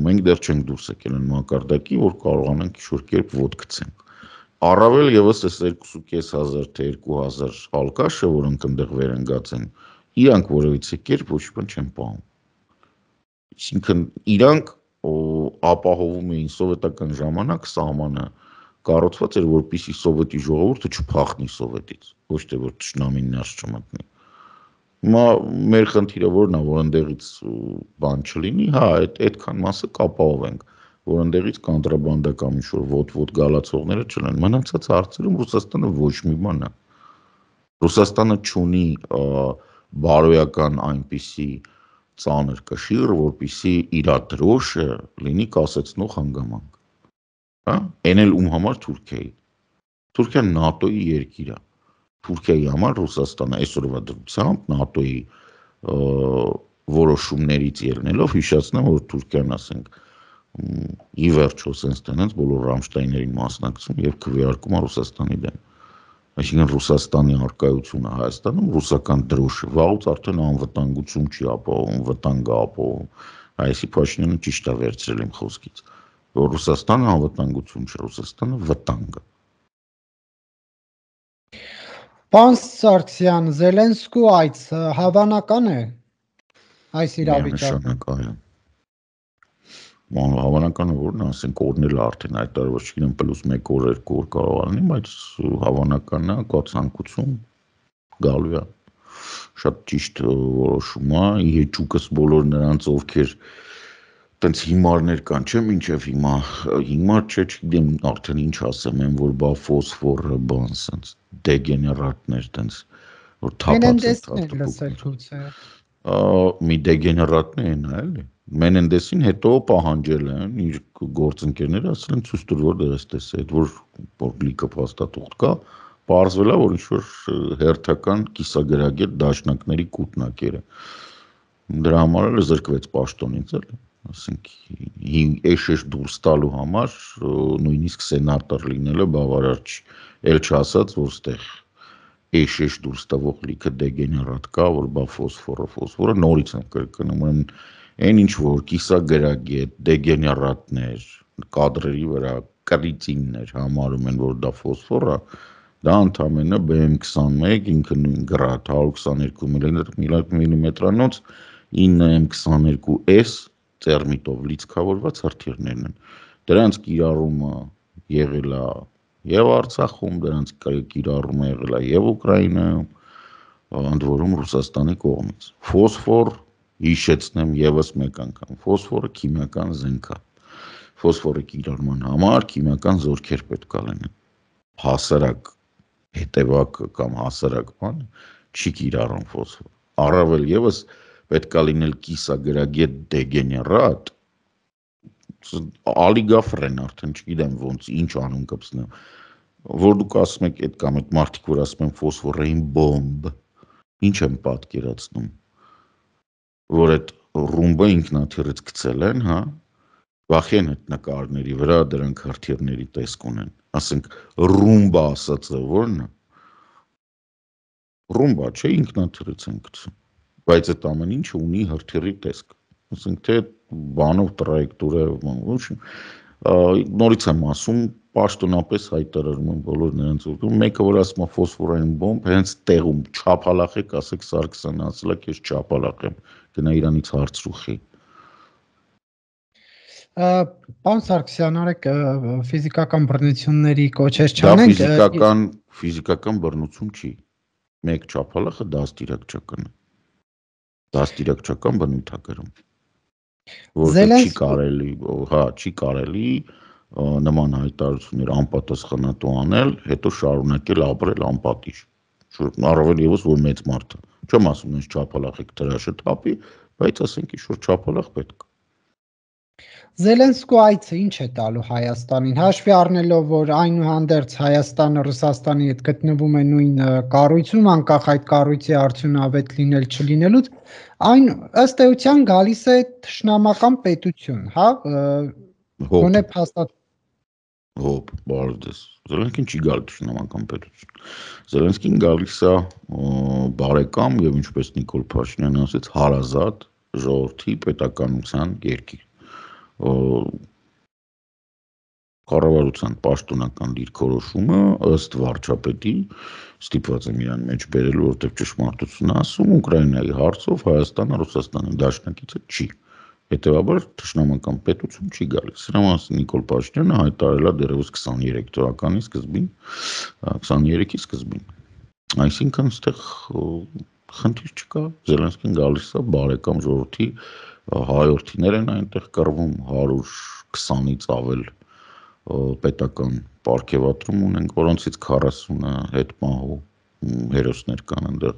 Մենք դեռ չենք դուրս եկել այն մակարդակի, որ կարողանանք ինչ-որ կերպ ոտ գցենք։ Առավել եւս այս երկու հազար թե երկու հազար հալկաշը, որոնք այնտեղ վերընկած են, իրանք որևիցե կերպ ոչ մի բան չեն պահում։ Այսինքն իրանք ապահովում էին սովետական ժամանակ սահմանը կառուցված էր, որպեսզի սովետի ժողովուրդը չփախնի սովետից, ոչ թե որ թշնամին ներս չմտնի։ Հիմա մեր խնդիրը որն է, որ այնտեղից բան չլինի, հա, այդ այդքան մասը կապահովենք, որ այնտեղից կոնտրաբանդական ինչ-որ ոտ-ոտ գալացողները չլինեն։ Մնացած հարցերում Ռուսաստանը ոչ մի բան է։ Ռուսաստանը չունի բարոյական այնպիսի ծանր կշիռ, որպեսզի իր դրոշը լինի կասեցնող հանգամանք։ Հա, այն էլ ում համար Թուրքիայի։ Թուրքիան ՆԱՏՕ-ի երկիր է։ Թուրքիայի համար Ռուսաստանը այսօրվա դրությամբ ՆԱՏՕ-ի որոշումներից ելնելով հիշեցնեմ, որ Թուրքիան, ասենք, ի վերջո sense տենենց բոլոր Ռամշտայններին մասնակցում եւ քվեարկում է Ռուսաստանի դեմ։ Այսինքն Ռուսաստանի արկայությունը Հայաստանում ռուսական դրոշը վաղուց արդեն անվտանգություն չի ապահովում, վտանգ է ապահովում։ Այսի Փաշինյանը ճիշտ է վերցրել իմ խոսքից, որ Ռուսաստանը անվտանգություն չէ, Ռուսաստանը վտանգ է։ Պարոն Սարգսյան, Զելենսկու այց հավանական է այս իրավիճակում։ Հավանական է, որ ասենք օրն էլ արդեն հայտարարված չգիտեմ պլյուս մեկ օր, երկու օր կարող լինի, բայց հավանական է, կա ցանկություն գալու է։ Շատ ճիշտ որոշում է, իհեճուկս բոլոր նրանց, ովքեր տենց հիմարներ կան, չէ՞, մինչև հիմա հիմար չէ, չգիտեմ արդեն ինչ ասեմ, են որ բա ֆոսֆորը, բան սենց դեգեներատներ տենց որ թափած են։ Մի դեգեներատն են, էլի։ Մենենդեսին հետո պահանջել են իր գործընկերները, ասել են ցույց տուր որ դες տես, այդ որ որ լիքը փաստաթուղթ կա, պարզվել է որ ինչ որ հերթական կիսագրագետ դաշնակների կուտնակերը։ Դրա համար էլ զրկվեց պաշտոնից, էլի։ Ասենք էշ-էշ դուրս տալու համար նույնիսկ սենատոր լինելը բավարար չի, էլ չասած որ ստեղ էշ-էշ դուրս տվող լիքը դեգեներատ կա, որ բա ֆոսֆորը, ֆոսֆորը նորից եմ կրկնում, ուրեմն այն ինչ որ կիսագրագետ, դեգեներատներ, կադրերի վրա կրիծիններ համարում են, որ դա ֆոսֆոր է, դա ընդամենը B M twenty-one, ինքը նույն գրադ one twenty-two միլիմետրանոց nine M twenty-two S տերմիտով լիցքավորված հրթիռներն են։ Դրանց կիրառումը եղել է եւ Արցախում, դրանց կիրառումը եղել է եւ Ուկրաինայում, ընդ որում Ռուսաստանի կողմից։ Ֆոսֆոր, հիշեցնեմ եւս մեկ անգամ, ֆոսֆորը քիմիական զենք է։ Ֆոսֆորի կիրառման համար քիմիական զորքեր պետք է լինեն։ Հասարակ հետևակ կամ հասարակ բան չի կիրառում ֆոսֆոր։ Առավել եւս պետք է լինել կիսագրագետ դեգեներատ, ալիգաֆրեն արդեն չգիտեմ ոնց ինչ անուն կպցնեմ, որ դուք ասում եք այդ կամ այդ մարդիկ որ ասում են ֆոսֆորային բոմբ, ինչ են պատկերացնում, որ այդ ռումբը ինքնաթիռից գցել են, հա, վախեն այդ նկարների վրա դրանք հրթիռների տեսք ունեն, ասենք ռումբա ասածը որն է, ռումբա չէ ինքնաթիռից են գցում, բայց այդ ամեն ինչը ունի հրթիռի տեսք, ասենք թե բանով տրայեկտորիա, ոչ նորից եմ ասում, պաշտոնապես հայտարարում են բոլոր նրանց ուղղում, մեկը որ ասում է ֆոսֆորային բոմբ, հենց տեղում չափալախեք, ասեք Սարգսյանը ասել է, քեզ չափալախեմ, գնա իրանից հարցրուխի։ Պարոն Սարգսյան, արեք ֆիզիկական բռնությունների կոչեր չանենք։ Դա ֆիզիկական ֆիզիկական բռնություն չի։ Մեկ չափալախը դաստիարակչական է։ Դաստիարակչական բնույթ է կրում։ Որը չի կարելի, հա, չի կարելի նման հայտարարություններ անպատասխանատու անել, հետո շարունակել ապրել անպատիժ։ Առավել եւս որ մեծ մարդ է։ Չեմ ասում ինձ չափալախեք դրաշը թափի, բայց ասենք ինչ որ չափալախ պետք է։ Զելենսկու այցը ինչ է տալու Հայաստանին, հաշվի առնելով, որ այնուհանդերձ Հայաստանը Ռուսաստանի հետ գտնվում է նույն կառույցում, անկախ այդ կառույցի արդյունավետ լինել չլինելուց, այն ըստ էության գալիս է թշնամական պետություն, հա, գոնե փաստաթ Հոբ, բարդես։ Զելենսկին չի գալի թշնամական պետություն։ Զելենսկին գալիս է բարեկամ եւ ինչպես Նիկոլ Փաշինյանը ասաց, հարազատ ժողովրդի պետականության երկիր։ Կառավարության պաշտոնական դիրքորոշումը ըստ վարչապետի ստիպված եմ իրան մեջ բերելու, որտեղ ճշմարտությունն ասում, Ուկրաինայի հարցով Հայաստանը Ռուսաստանի դաշնակիցը չի։ Հետևաբար թշնամական պետություն չի գալիս։ Սրա մասին Նիկոլ Փաշինյանը հայտարարել է դեռևս քսաներեք թվականի սկզբին, քսաներեքի սկզբին։ Այսինքն այստեղ խնդիր չկա, Զելենսկին գալիս է բարեկամ ժողովրդի հայորդիներ են այնտեղ կռվում, հարյուր քսանից ավել պետական պարգևատրում ունենք, որոնցից քառասունը հետմահու հերոսներ կան այնտեղ։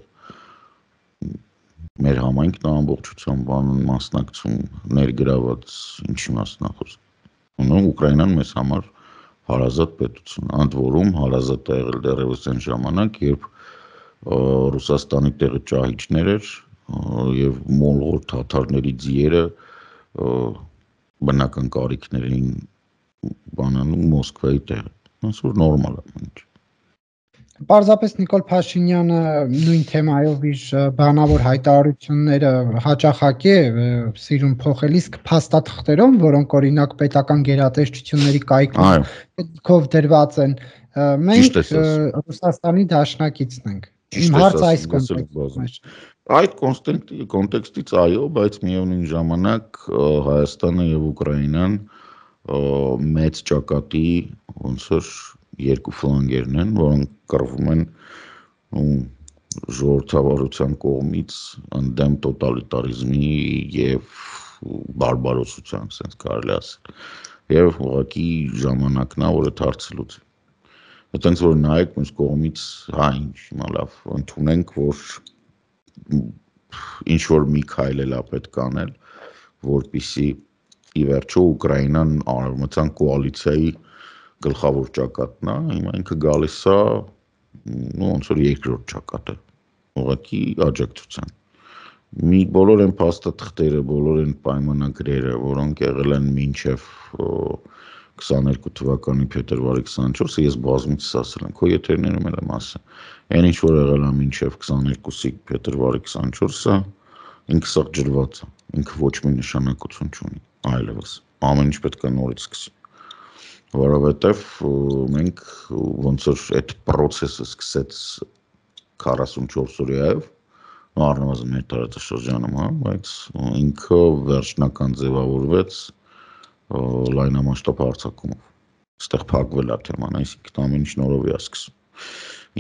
Մեր համայնքն ամբողջությամբ բանն մասնակցում ներգրաված ինչի մասնախոս։ Ուկրաինան մեզ համար հարազատ պետություն, ընդ որում հարազատ է եղել դեռևս այն ժամանակ, երբ Ռուսաստանի տեղը ճահիճներ էր եւ մոլղոր թաթարների ձիերը բնական կարիքներին բանանում Մոսկվայի տեղը։ Այսօր նորմալ է ինչ։ Պարզապես Նիկոլ Փաշինյանը նույն թեմայով իր բանավոր հայտարարությունները հաճախակի է սիրում փոխել, իսկ փաստաթղթերով, որոնք օրինակ պետական գերատեսչությունների կայքով դրված են, մենք Ռուսաստանի դաշնակիցն ենք։ Իմ հարցը այս կոնտեքստում է։ Այդ կոնտեքստից այո, բայց միևնույն ժամանակ Հայաստանը եւ Ուկրաինան մեծ ճակատի ոնց որ երկու ֆլանգերն են, որոնք կռվում են ժողովրդավարության կողմից ընդդեմ տոտալիտարիզմի եւ բարբարոսության, ասենց կարելի ասել։ Եվ ուղղակի ժամանակն է, որ այդ հարցը լուծի։ Այդտենց որ նայեք մյուս կողմից, հա ինչ, հիմա լավ, ընդունենք, որ ինչ որ մի քայլ էլ է պետք անել, որպեսզի ի վերջո Ուկրաինան արևմտյան կոալիցիայի գլխավոր ճակատն է, հիմա ինքը գալիս է ոնց որ երկրորդ ճակատը, ուղղակի աջակցության։ Մի բոլոր են փաստաթղթերը, բոլոր են պայմանագրերը, որոնք եղել են մինչև քսաներկու թվականի փետրվարի քսանչորսը, ես բազմիցս ասել եմ, քո եթերներում էլ եմ ասել, այն ինչ որ եղել է մինչև քսաներկուսի փետրվարի քսանչորսը, ինքը սա ջրված է, ինքը ոչ մի նշանակություն չունի, այլևս, ամեն ինչ պետք է նորից սկսի։ Որովհետև մենք ոնց որ այդ process-ը սկսեց քառասունչորս օրյայով, առնվազն մեր տարածաշրջանում, հա, բայց ինքը վերջնական ձևավորվեց լայնամասշտաբ հարձակումով։ Այստեղ փակվել է թեման, այսինքն ամեն ինչ նորով է սկսում։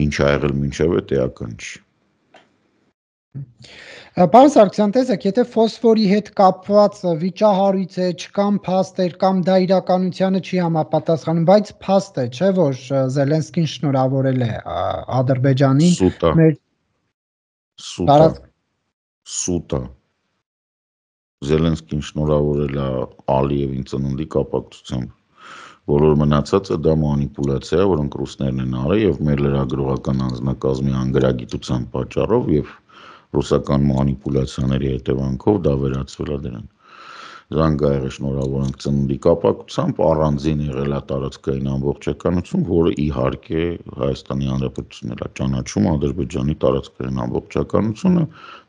Ինչ ա եղել մինչև այդ էական չի։ Պարոն Սարգսյան, տեսեք, եթե ֆոսֆորի հետ կապված վիճահարույց է, չկան փաստեր կամ դա իրականությանը չի համապատասխանում, բայց փաստ է, չէ՞ որ Զելենսկին շնորհավորել է Ադրբեջանին։ Սուտ է։ Սուտ է։ Սուտ է։ Զելենսկին շնորհավորել է Ալիևին ծննդի կապակցությամբ։ Բոլոր մնացածը դա մանիպուլյացիա է, որոնք ռուսներն են արել եւ մեր լրագրողական անձնակազմի անգրագիտության պատճառով եւ ռուսական մանիպուլյացիաների հետևանքով դա վերածվել է դրան։ Զանգայեղը շնորհավորենք ծննդի կապակցությամբ, առանձին եղել է տարածքային ամբողջականություն, որը իհարկե Հայաստանի Հանրապետությունն էլ է ճանաչում Ադրբեջանի տարածքային ամբողջականությունը,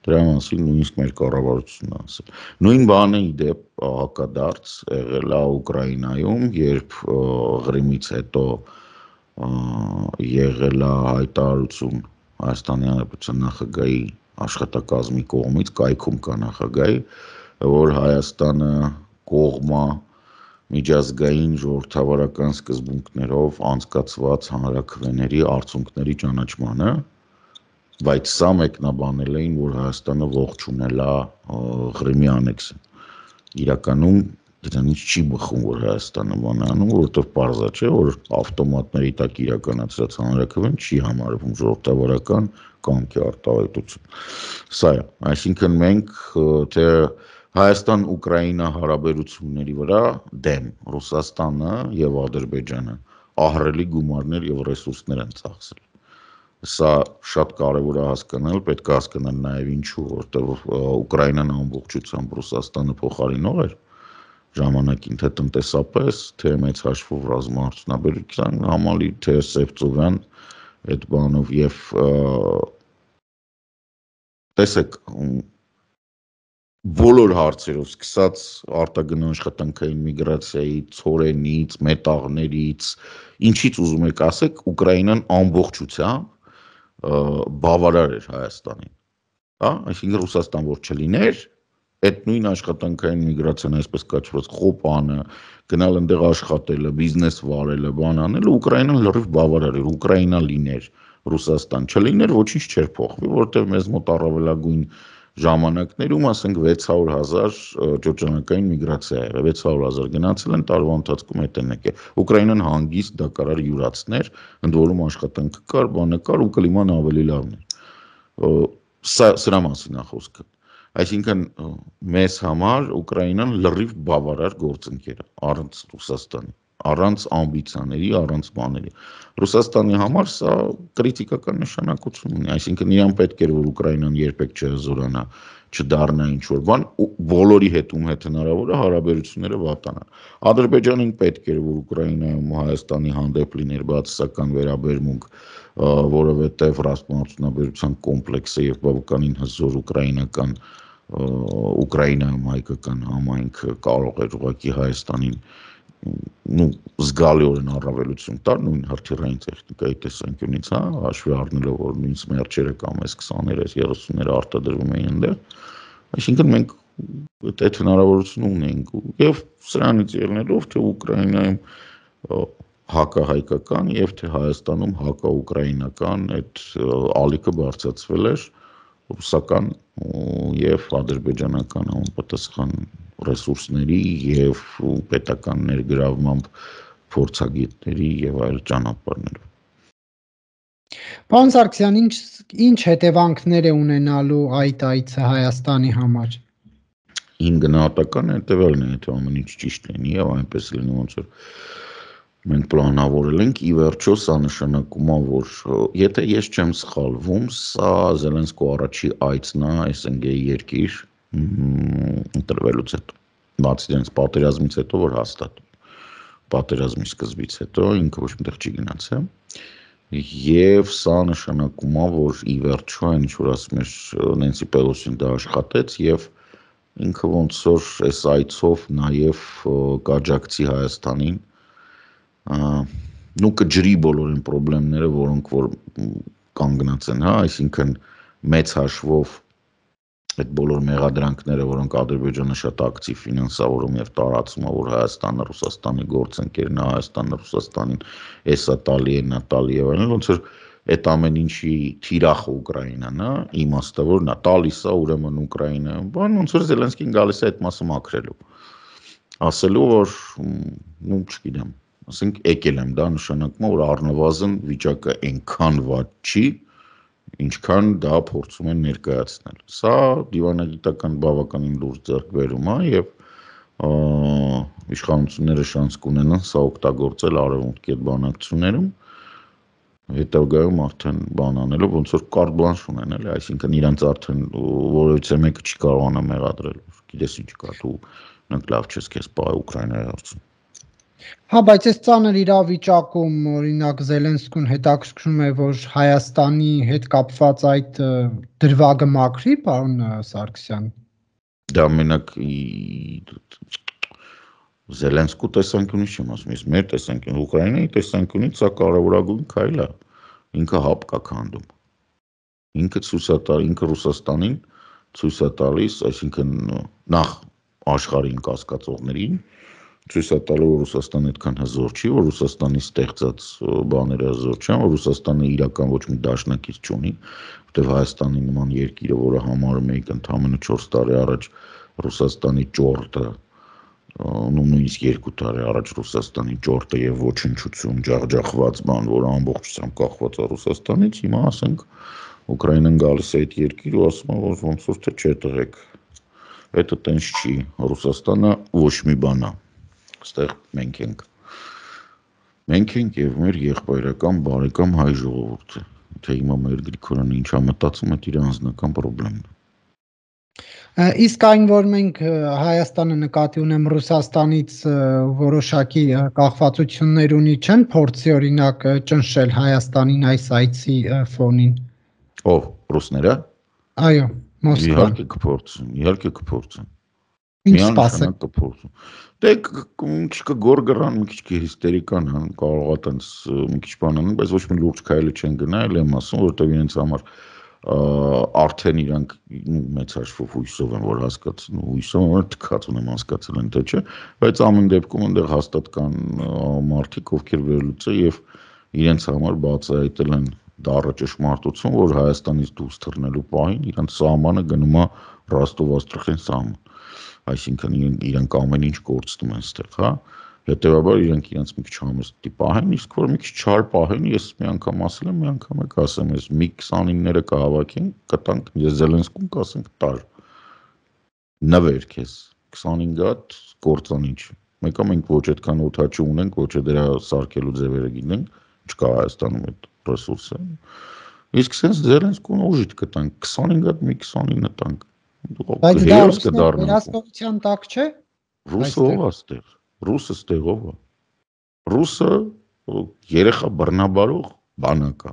դրա մասին նույնիսկ մեր կառավարությունն է ասել։ Նույն բանը ի դեպ հակադարձ եղել է Ուկրաինայում, երբ Ղրիմից հետո եղել է հայտարարություն Հայաստանի Հանրապետության նախագահի աշխատակազմի կողմից, կայքում կա նախագահի, որ Հայաստանը կողմ է միջազգային ժողովրդավարական սկզբունքներով անցկացված հանրաքվեների արդյունքների ճանաչմանը, բայց սա մեկնաբանել էին, որ Հայաստանը ողջունել է Ղրիմի անեքսը։ Իրականում դրանից չի բխում, որ Հայաստանը բան է անում, որովհետև պարզ է, չէ, որ ավտոմատների տակ իրականացրած հանրաքվեն չի համարվում ժողովրդավարական կամքի արտահայտություն։ Սա է, այսինքն մենք թե Հայաստան-Ուկրաինա հարաբերությունների վրա դեմ Ռուսաստանը եւ Ադրբեջանը ահռելի գումարներ եւ ռեսուրսներ են ծախսել։ Սա շատ կարևոր է հասկանալ, պետք է հասկանալ նաեւ ինչու, որտեղ Ուկրաինան ամբողջությամբ Ռուսաստանը փոխարինող էր ժամանակին, թե տնտեսապես, թե մեծ հաշվով ռազմաարդյունաբերության համալիր, թե Սևծովյան այդ բանով եւ տեսեք բոլոր հարցերով սկսած արտագն աշխատանքային միգրացիայից, ցորենից, մետաղներից, ինչից ուզում եք ասեք, Ուկրաինան ամբողջությամբ բավարար էր Հայաստանին, հա, այսինքն Ռուսաստան որ չլիներ, այդ նույն աշխատանքային միգրացիան այսպես կոչված խոպանը, գնալ այնտեղ աշխատելը, բիզնես վարելը, բան անելը, Ուկրաինան լրիվ բավարար էր, Ուկրաինա լիներ, Ռուսաստան չլիներ, ոչինչ չէր փոխվի, որտեղ մեզ մոտ առավելագույն ժամանակներում ասենք վեց հարյուր հազար ճոճանակային միգրացիա է, վեց հարյուր հազար գնացել են տարվա ընթացքում հետ են եկել։ Ուկրաինան հանգիստ դա կարար յուրացներ, ընդ որում աշխատանքը կար, բանը կար ու կլիման ավելի լավն էր։ Սա սրա մասին է խոսքը։ Այսինքն մեզ համար Ուկրաինան լրիվ բավարար գործընկեր է առանց Ռուսաստանի, առանց ամբիցիաների, առանց բաների։ Ռուսաստանի համար սա կրիտիկական նշանակություն ունի, այսինքն իրան պետք էր որ Ուկրաինան երբեք չհզորանա, չդառնա ինչ որ բան, բոլորի հետ ում հետ հնարավոր է հարաբերությունները վատանան։ Ադրբեջանին պետք էր որ Ուկրաինայում Հայաստանի հանդեպ լիներ բացասական վերաբերմունք, որովհետև ռազմաարդյունաբերության կոմպլեքսը եւ բավականին հզոր ուկրաինական Ուկրաինայում հայկական համայնքը կարող էր ուղղակի Հայաստանին նու զգալիորեն առավելություն տար նույն հրթիռային տեխնիկայի տեսանկյունից, հա, հաշվի առնելով որ նույն սմերչերը կամ էս քսաներես երեսունները արտադրվում էին այնտեղ, այսինքն մենք այդ հնարավորությունը ունենք եւ սրանից ելնելով թե Ուկրաինայում հակահայկական եւ թե Հայաստանում հակաուկրաինական այդ ալիքը բարձրացվել էր ռուսական եւ ադրբեջանական համապատասխան ռեսուրսների եւ պետական ներգրավմամբ փորձագետների եւ այլ ճանապարհներով։ Պարոն Սարգսյան, ինչ ինչ հետևանքներ է ունենալու այդ այցը Հայաստանի համար։ Իմ գնահատականը հետևյալն է, եթե ամեն ինչ ճիշտ լինի եւ այնպես լինի ոնց որ մենք պլանավորել ենք, ի վերջո սա նշանակում է, որ եթե ես չեմ սխալվում, սա Զելենսկու առաջի այցն է S N G երկիր ընտրվելուց հետո, բացի դրանից պատերազմից հետո, որ հաստատ պատերազմի սկզբից հետո ինքը ոչ միտեղ չի գնացել, եւ սա նշանակում է, որ ի վերջո այն ինչ որ ասում էր Նենսի Պելոսին դա աշխատեց եւ ինքը ոնց որ այս այցով նաեւ կաջակցի Հայաստանին նու կջրի բոլոր այն խնդիրները, որոնք որ կանգնած են, հա, այսինքն մեծ հաշվով այդ բոլոր մեղադրանքները, որոնք Ադրբեջանը շատ ակտիվ ֆինանսավորում եւ տարածում է, որ Հայաստանը Ռուսաստանի գործընկերն է, Հայաստանը Ռուսաստանին էսա տալի է, նա տալի եւ այլն, ոնց որ այդ ամեն ինչի թիրախը Ուկրաինան է, իմաստը որ նա տալիս է ուրեմն Ուկրաինա, բան ոնց որ Զելենսկին գալիս է այդ մասը մաքրելու, ասելու որ նու չգիտեմ, ասենք եկել եմ, դա նշանակում է որ առնվազն վիճակը այնքան վատ չի, ինչքան դա փորձում են ներկայացնել։ Սա դիվանագիտական բավականին լուրջ ձեռքբերում է եւ իշխանությունները շանս կունենան սա օգտագործել արևմուտքի այդ բանակցություններում, հետագայում արդեն բան անելով ոնց որ կարտ բլանշ ունեն, էլի, այսինքն իրանց արդեն որևիցե մեկը չի կարողանա մեղադրել, գիտես ինչ կա, դու նրանք լավ չես քեզ պահ Ուկրաինայի հարցում։ Հա, բայց այս ծանր իրավիճակում օրինակ Զելենսկուն հետաքրքրում է, որ Հայաստանի հետ կապված այդ դրվագը մաքրի, պարոն Սարգսյան։ Դա մենակ Զելենսկու տեսանկյունից չեմ ասում, իսկ մեր տեսանկյունից, Ուկրաինայի տեսանկյունից սա կարևորագույն քայլ է, ինքը հապ կա քանդում։ Ինքը ցույց է տալիս, ինքը Ռուսաստանին ցույց է տալիս, այսինքն նախ աշխարհին կասկածողներին ցույց է տալու որ Ռուսաստանը այդքան հզոր չի, որ Ռուսաստանի ստեղծած բաները հզոր չեն, որ Ռուսաստանը իրական ոչ մի դաշնակից չունի, որտեղ Հայաստանի նման երկիրը, որը համարում էինք ընդամենը չորս տարի առաջ Ռուսաստանի ճորտը, նույնիսկ երկու տարի առաջ Ռուսաստանի ճորտը եւ ոչնչություն, ջախջախված բան, որ ամբողջությամբ կախված է Ռուսաստանից, հիմա ասենք Ուկրաինան գալիս է այդ երկիր ու ասում է որ ոնց որ թե չէ տղեկ Հետը տենց չի, Ռուսաստանը ոչ մի բան է, ստեղ մենք ենք, մենք ենք և մեր եղբայրական բարեկամ հայ ժողովուրդը, թե հիմա մեր Գրիգորյանը ինչա մտածում է իր անձնական պրոբլեմն է։ Իսկ այն, որ մենք Հայաստանը նկատի ունեմ Ռուսաստանից որոշակի կախվածություններ ունի, չեն փորձի օրինակ ճնշել Հայաստանին այս այցի ֆոնին։ Ով, ռուսները։ Այո, Մոսկվան։ Իհարկե կփորձեն, իհարկե կփորձեն։ Ինչ սպասեք։ կփորձեն։ Դե մի քիչ կգորգռան, մի քիչ կհիստերիկան, կարող է տենց մի քիչ բան անեն, բայց ոչ մի լուրջ քայլ չեն գնա, էլ եմ ասում, որովհետև իրենց համար արդեն իրանք մեծ հաշվով հույսով են, որ հասկացին, հույսով են, որ թքած ունեմ հասկացել են, թե չէ, բայց ամեն դեպքում այնտեղ հաստատ կան մարդիկ, ովքեր վերլուծե եւ իրենց համար բացահայտել են դառը ճշմարտություն, որ Հայաստանից դուրս թռնելու պահին իրանք սահմանը գնում է Ռոստով-Աստրախան սահման, այսինքն իրանք ամեն ինչ կորցնում են այստեղ, հա։ Հետևաբար իրենք իրենց մի քիչ համեստ պահեն, իսկ որ մի քիչ չար պահեն, ես մի անգամ ասել եմ, մի անգամ եք ասեմ, ես մի քսանինները կհավաքենք, կտանք, ես Զելենսկուն կասենք տար։ Նվեր քեզ, քսանինգ հատ կործանիչ։ Մեկը մենք ոչ այդքան օդաչու ունենք, ոչ դրա սարքելու ձևերը գիտենք, չկա Հայաստանում այդ ռեսուրսը։ Իսկ sense Զելենսկուն ուժիտ կտանք, քսանինգ հատ մի քսանինը տանք։ Բայց դա վերահսկողության տակ չէ։ Ռուսը ով է այստեղ։ Ռուսը ստեղով է, ռուսը երեխա բռնաբարող բանակ է,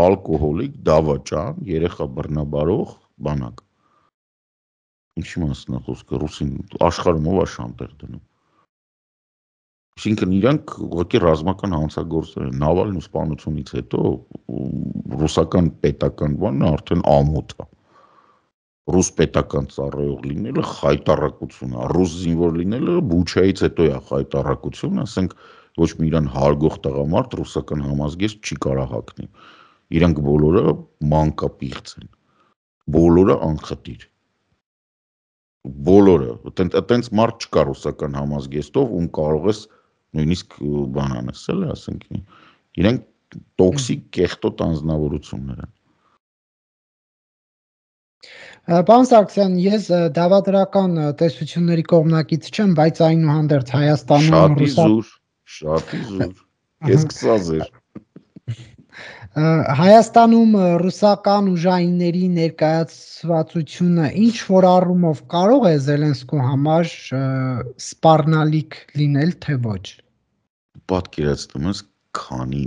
ալկոհոլիկ, դավաճան, երեխա բռնաբարող բանակ, ինչի մասն է խոսքը, ռուսին աշխարհում ով է շանտեր դնում, այսինքն իրանք ուղղակի ռազմական հանցագործներ են, Նավալնի սպանությունից հետո ռուսական պետական բանն արդեն ամոթ է, ռուս պետական ծառայող լինելը խայտառակություն է, ռուս զինվոր լինելը Բուչայից հետո է խայտառակություն, ասենք ոչ մի իրան հարգող տղամարդ ռուսական համազգեստ չի կարող հագնել։ Իրանք բոլորը մանկապիղծ են, բոլորը անխտիր, բոլորը, այտենց մարդ չկա ռուսական համազգեստով, ում կարող ես նույնիսկ բան անես, էլ ասենք, իրանք տոքսիկ կեղտոտ անձնավորություններ են։ Պարոն Սարգսյան, ես դավադրական տեսությունների կողմնակից չեմ, բայց այնուհանդերձ Հայաստանում Շատի զուր, շատի զուր, քեզ կսազեր։ Հայաստանում ռուսական ուժայինների ներկայացվածությունը ինչ որ առումով կարող է Զելենսկու համար սպառնալիք լինել, թե ոչ։ Պատկերացնում ես, քանի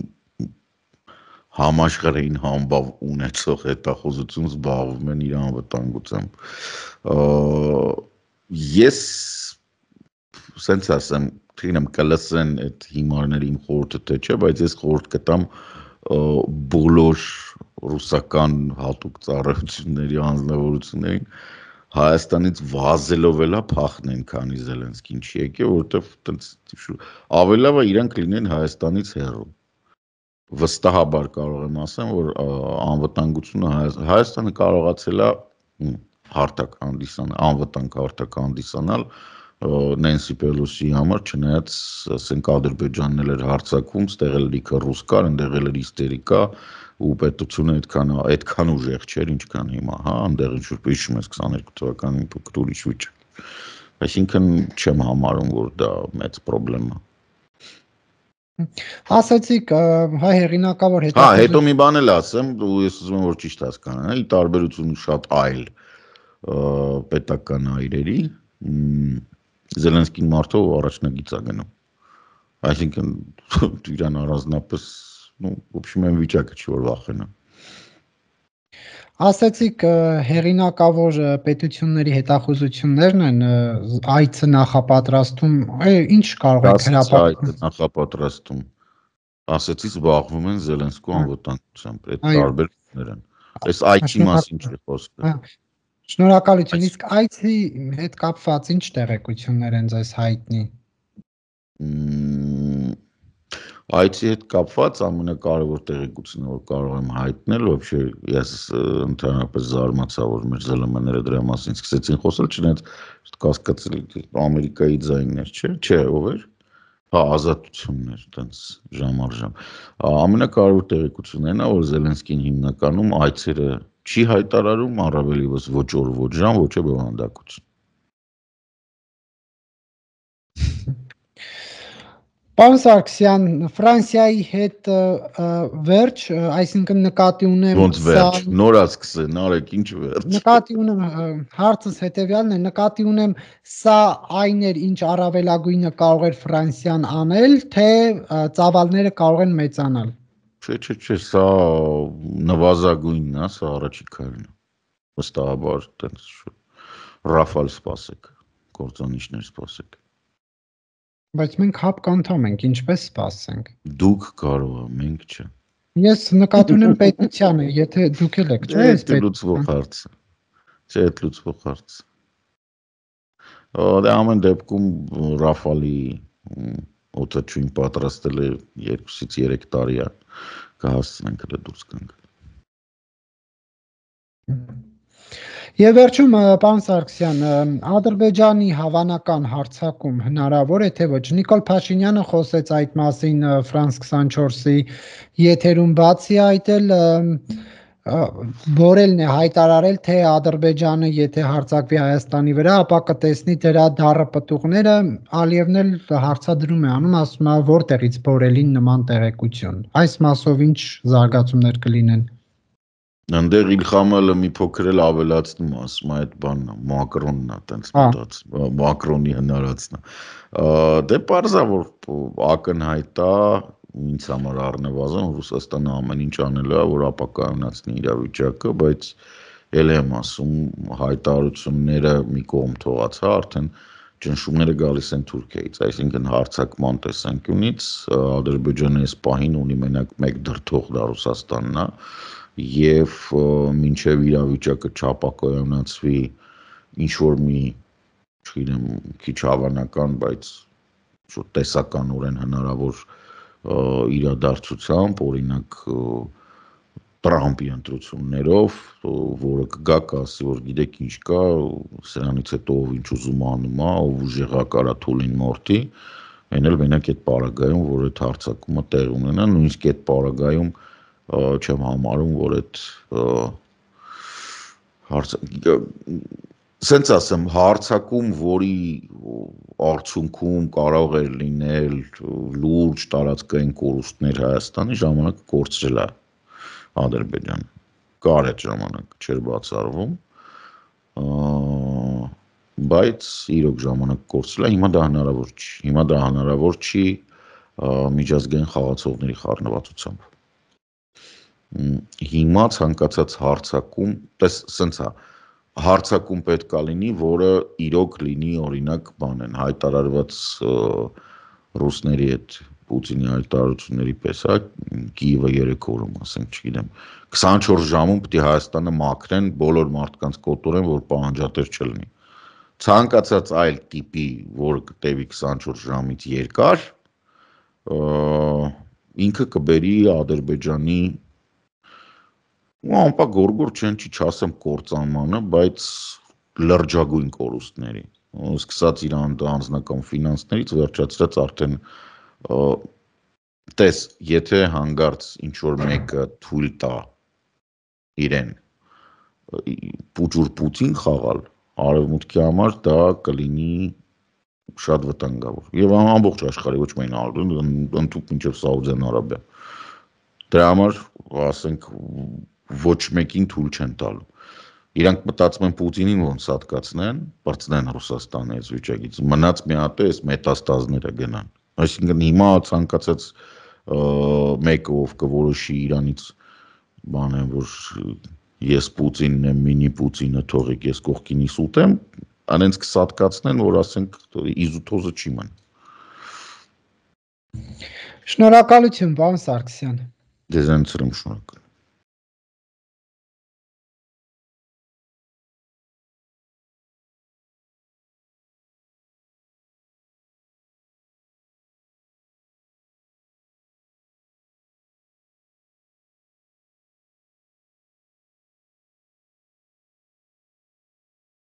համաշխարհային համբավ ունեցող հետախուզություն զբաղվում են իր անվտանգությամբ։ Ես սենց ասեմ, թիրնեմ կլսեն այդ հիմարների իմ խորհուրդը թե չէ, բայց ես խորհուրդ կտամ բոլոր ռուսական հատուկ ծառայությունների անձնավորություններին Հայաստանից վազելով էլա փախնեն, քանի Զելենսկին չի եկել, որովհետև ավելի լավ է իրանք լինեն Հայաստանից հեռու։ Վստահաբար կարող եմ ասեմ, որ անվտանգությունը Հայաստանը կարողացել է հարթակ հանդիսանալ, անվտանգ հարթակ հանդիսանալ Նենսի Պելոսի համար, չնայած ասենք Ադրբեջանն էր հարձակվում, ստեղ էլ լիքը ռուս կար, ընդեղ էլ հիստերիկա ու պետությունը այդքան այդքան ուժեղ չէր, ինչքան հիմա, հա, ընդեղ ինչ որ հիշում ես քսաներկու թվականին փոքր ուրիշ վիճակ։ Այսինքն չեմ համարում, որ դա մեծ խնդրեմ է։ Ասացիք հայ հեղինակավոր հետո։ Հա, հետո մի բան էլ ասեմ, ու ես ուզում եմ որ ճիշտ հասկանան, ի տարբերություն շատ այլ պետական այրերի, Զելենսկին մարդով առաջնագիծ է գնում։ Այսինքն իրան առանձնապես, ну, в общем, այն վիճակը չի որ վախենա։ Ասացիք հեղինակավոր պետությունների հետախուզություններն են այցը նախապատրաստում, ինչ կարող եք հրապարակել նախապատրաստում։ Ասեցի զբաղվում են Զելենսկու անվտանգությամբ, այդ տարբերություններ են։ Այս այցի մասին չի խոսքը։ Շնորհակալություն, իսկ այցի հետ կապված ինչ տեղեկություններ են ձեզ հայտնի։ Այցի հետ կապված ամենակարևոր տեղեկությունը, որ կարող եմ հայտնել, вообще ես ընդհանրապես զարմացա, որ մեր ԶԼՄ-ները դրա մասին սկսեցին խոսել, չնայած կասկածել Ամերիկայի ձայններ, չէ, չէ, ով էր։ Հա, ազատություններ, տենց ժամ առ ժամ։ Ամենակարևոր տեղեկությունն է, որ Զելենսկին հիմնականում այցերը չի հայտարարում, առավել ևս ոչ օր, ոչ ժամ, ոչ է բովանդակություն։ Պարոն Սարգսյան, Ֆրանսիայի հետ վերջ, այսինքն նկատի ունեմ Ոնց վերջ, նորա սկսեն, արեք ինչ վերջ։ Նկատի ունեմ հարցս հետևյալն է, նկատի ունեմ սա այն էր, ինչ առավելագույնը կարող էր Ֆրանսիան անել, թե ծավալները կարող են մեծանալ։ Չէ, չէ, չէ, սա նվազագույնն է, սա առաջի քայլն է։ Վստահաբար տենց ռաֆալ սպասեք, կործանիչներ սպասեք։ Բայց մենք հապկ անդամ ենք, ինչպես սպասենք։ Դուք կարող եք, մենք չէ։ Ես նկատի ունեմ պետությանը, եթե դուք եք, չէ՞, այս պետությունը լուծվող հարց է։ Չէ, լուծվող հարց։ Դե ամեն դեպքում ռաֆալի օդաչույն պատրաստել է երկուսից երեք տարի է, կհասցնենք հենց դուրս գանք։ Եվ վերջում, պարոն Սարգսյան, Ադրբեջանի հավանական հարձակում հնարավոր է, թե ոչ։ Նիկոլ Փաշինյանը խոսեց այդ մասին Ֆրանս քսանչորսի եթերում, բացի այդ էլ Բորելն է հայտարարել, թե Ադրբեջանը եթե հարձակվի Հայաստանի վրա, ապա կտեսնի դրա դառը պտուղները, Ալիևն էլ հարցադրում է անում, ասում է որտեղից Բորելին նման տեղեկություն։ Այս մասով ինչ զարգացումներ կլինեն։ Այնտեղ Իլխամը մի փոքր էլ ավելացնում, ասում է այդ բանն է, Մակրոնն է, տենց մտած, Մակրոնի հնարածն է։ Դե պարզ է, որ ակնհայտ է, ինձ համար առնվազն Ռուսաստանը ամեն ինչ անել է, որ ապակայունացնի իրավիճակը, բայց էլ եմ ասում, հայտարարությունները մի կողմ թողած, հա, արդեն ճնշումները գալիս են Թուրքիայից, այսինքն հարձակման տեսանկյունից Ադրբեջանը այս պահին ունի մենակ մեկ դրդող, դա Ռուսաստանն է, եւ մինչեւ իրավիճակը չապակայունացվի ինչ որ մի, չգիտեմ, քիչ հավանական, բայց շուտ տեսականորեն հնարավոր իրադարձությամբ, օրինակ Տրամպի ընտրություններով, որը կգա կասի, որ գիտեք ինչ կա, սրանից հետո ով ինչ ուզում անում է, ով ուժեղակ արա թուլին մորթի, այն էլ մենակ այդ պարագայում, որ այդ հարձակումը տեղ ունենա, նույնիսկ այդ պարագայում չեմ համարում, որ այդ սենց ասեմ, հարձակում, որի արդյունքում կարող էր լինել լուրջ տարածքային կորուստներ Հայաստանի, ժամանակը կորցրել է Ադրբեջանը, կար այդ ժամանակ, չէր բացառվում, բայց իրոք ժամանակ կորցրել է, հիմա դա հնարավոր չի, հիմա դա հնարավոր չի միջազգային խաղացողների խառնվածությամբ։ Հիմա ցանկացած հարձակում, տես սենց է, հարձակում պետք է լինի, որը իրոք լինի, օրինակ, բանեն, հայտարարված ռուսների այդ Պուտինի հայտարարությունների պես, հա, Կիևը երեք օրում, ասենք, չգիտեմ, քսանչորս ժամում պետք է Հայաստանը մաքրեն, բոլոր մարդկանց կոտորեն, որ պահանջատեր չլինի։ Ցանկացած այլ տիպի, որը կտևի քսանչորս ժամից երկար, ինքը կբերի Ադրբեջանի ու անպա գորգոր չեն չի չասեմ կործանմանը, բայց լրջագույն կորուստների, սկսած իր անձնական ֆինանսներից վերջացրած արդեն տես, եթե հանգարց ինչ-որ մեկը թույլ տա իրեն պուճուր Պուտին խաղալ, արևմուտքի համար դա կլինի շատ վտանգավոր, և ամբողջ աշխարհի ոչ միայն ընդհուպ մինչև Սաուդյան Արաբիա, դրա համար, ասենք, ոչ մեկին թույլ չեն տալու, իրանք մտածում են Պուտինին ոնց հատկացնեն, բարձնեն Ռուսաստանի այս վիճակից, մնաց մի հատ է, այս մետաստազները գնան, այսինքն հիմա ցանկացած մեկը ով կորոշի Իրանից բանեմ, որ ես Պուտինն եմ, մինի Պուտինը թողեք, ես կողքինիս ուտեմ, անենց կսատկացնեն, որ ասենք իզուտոզը չի մն։ Շնորհակալություն, պարոն Սարգսյան։ Ձեզանից եմ շնորհակալ։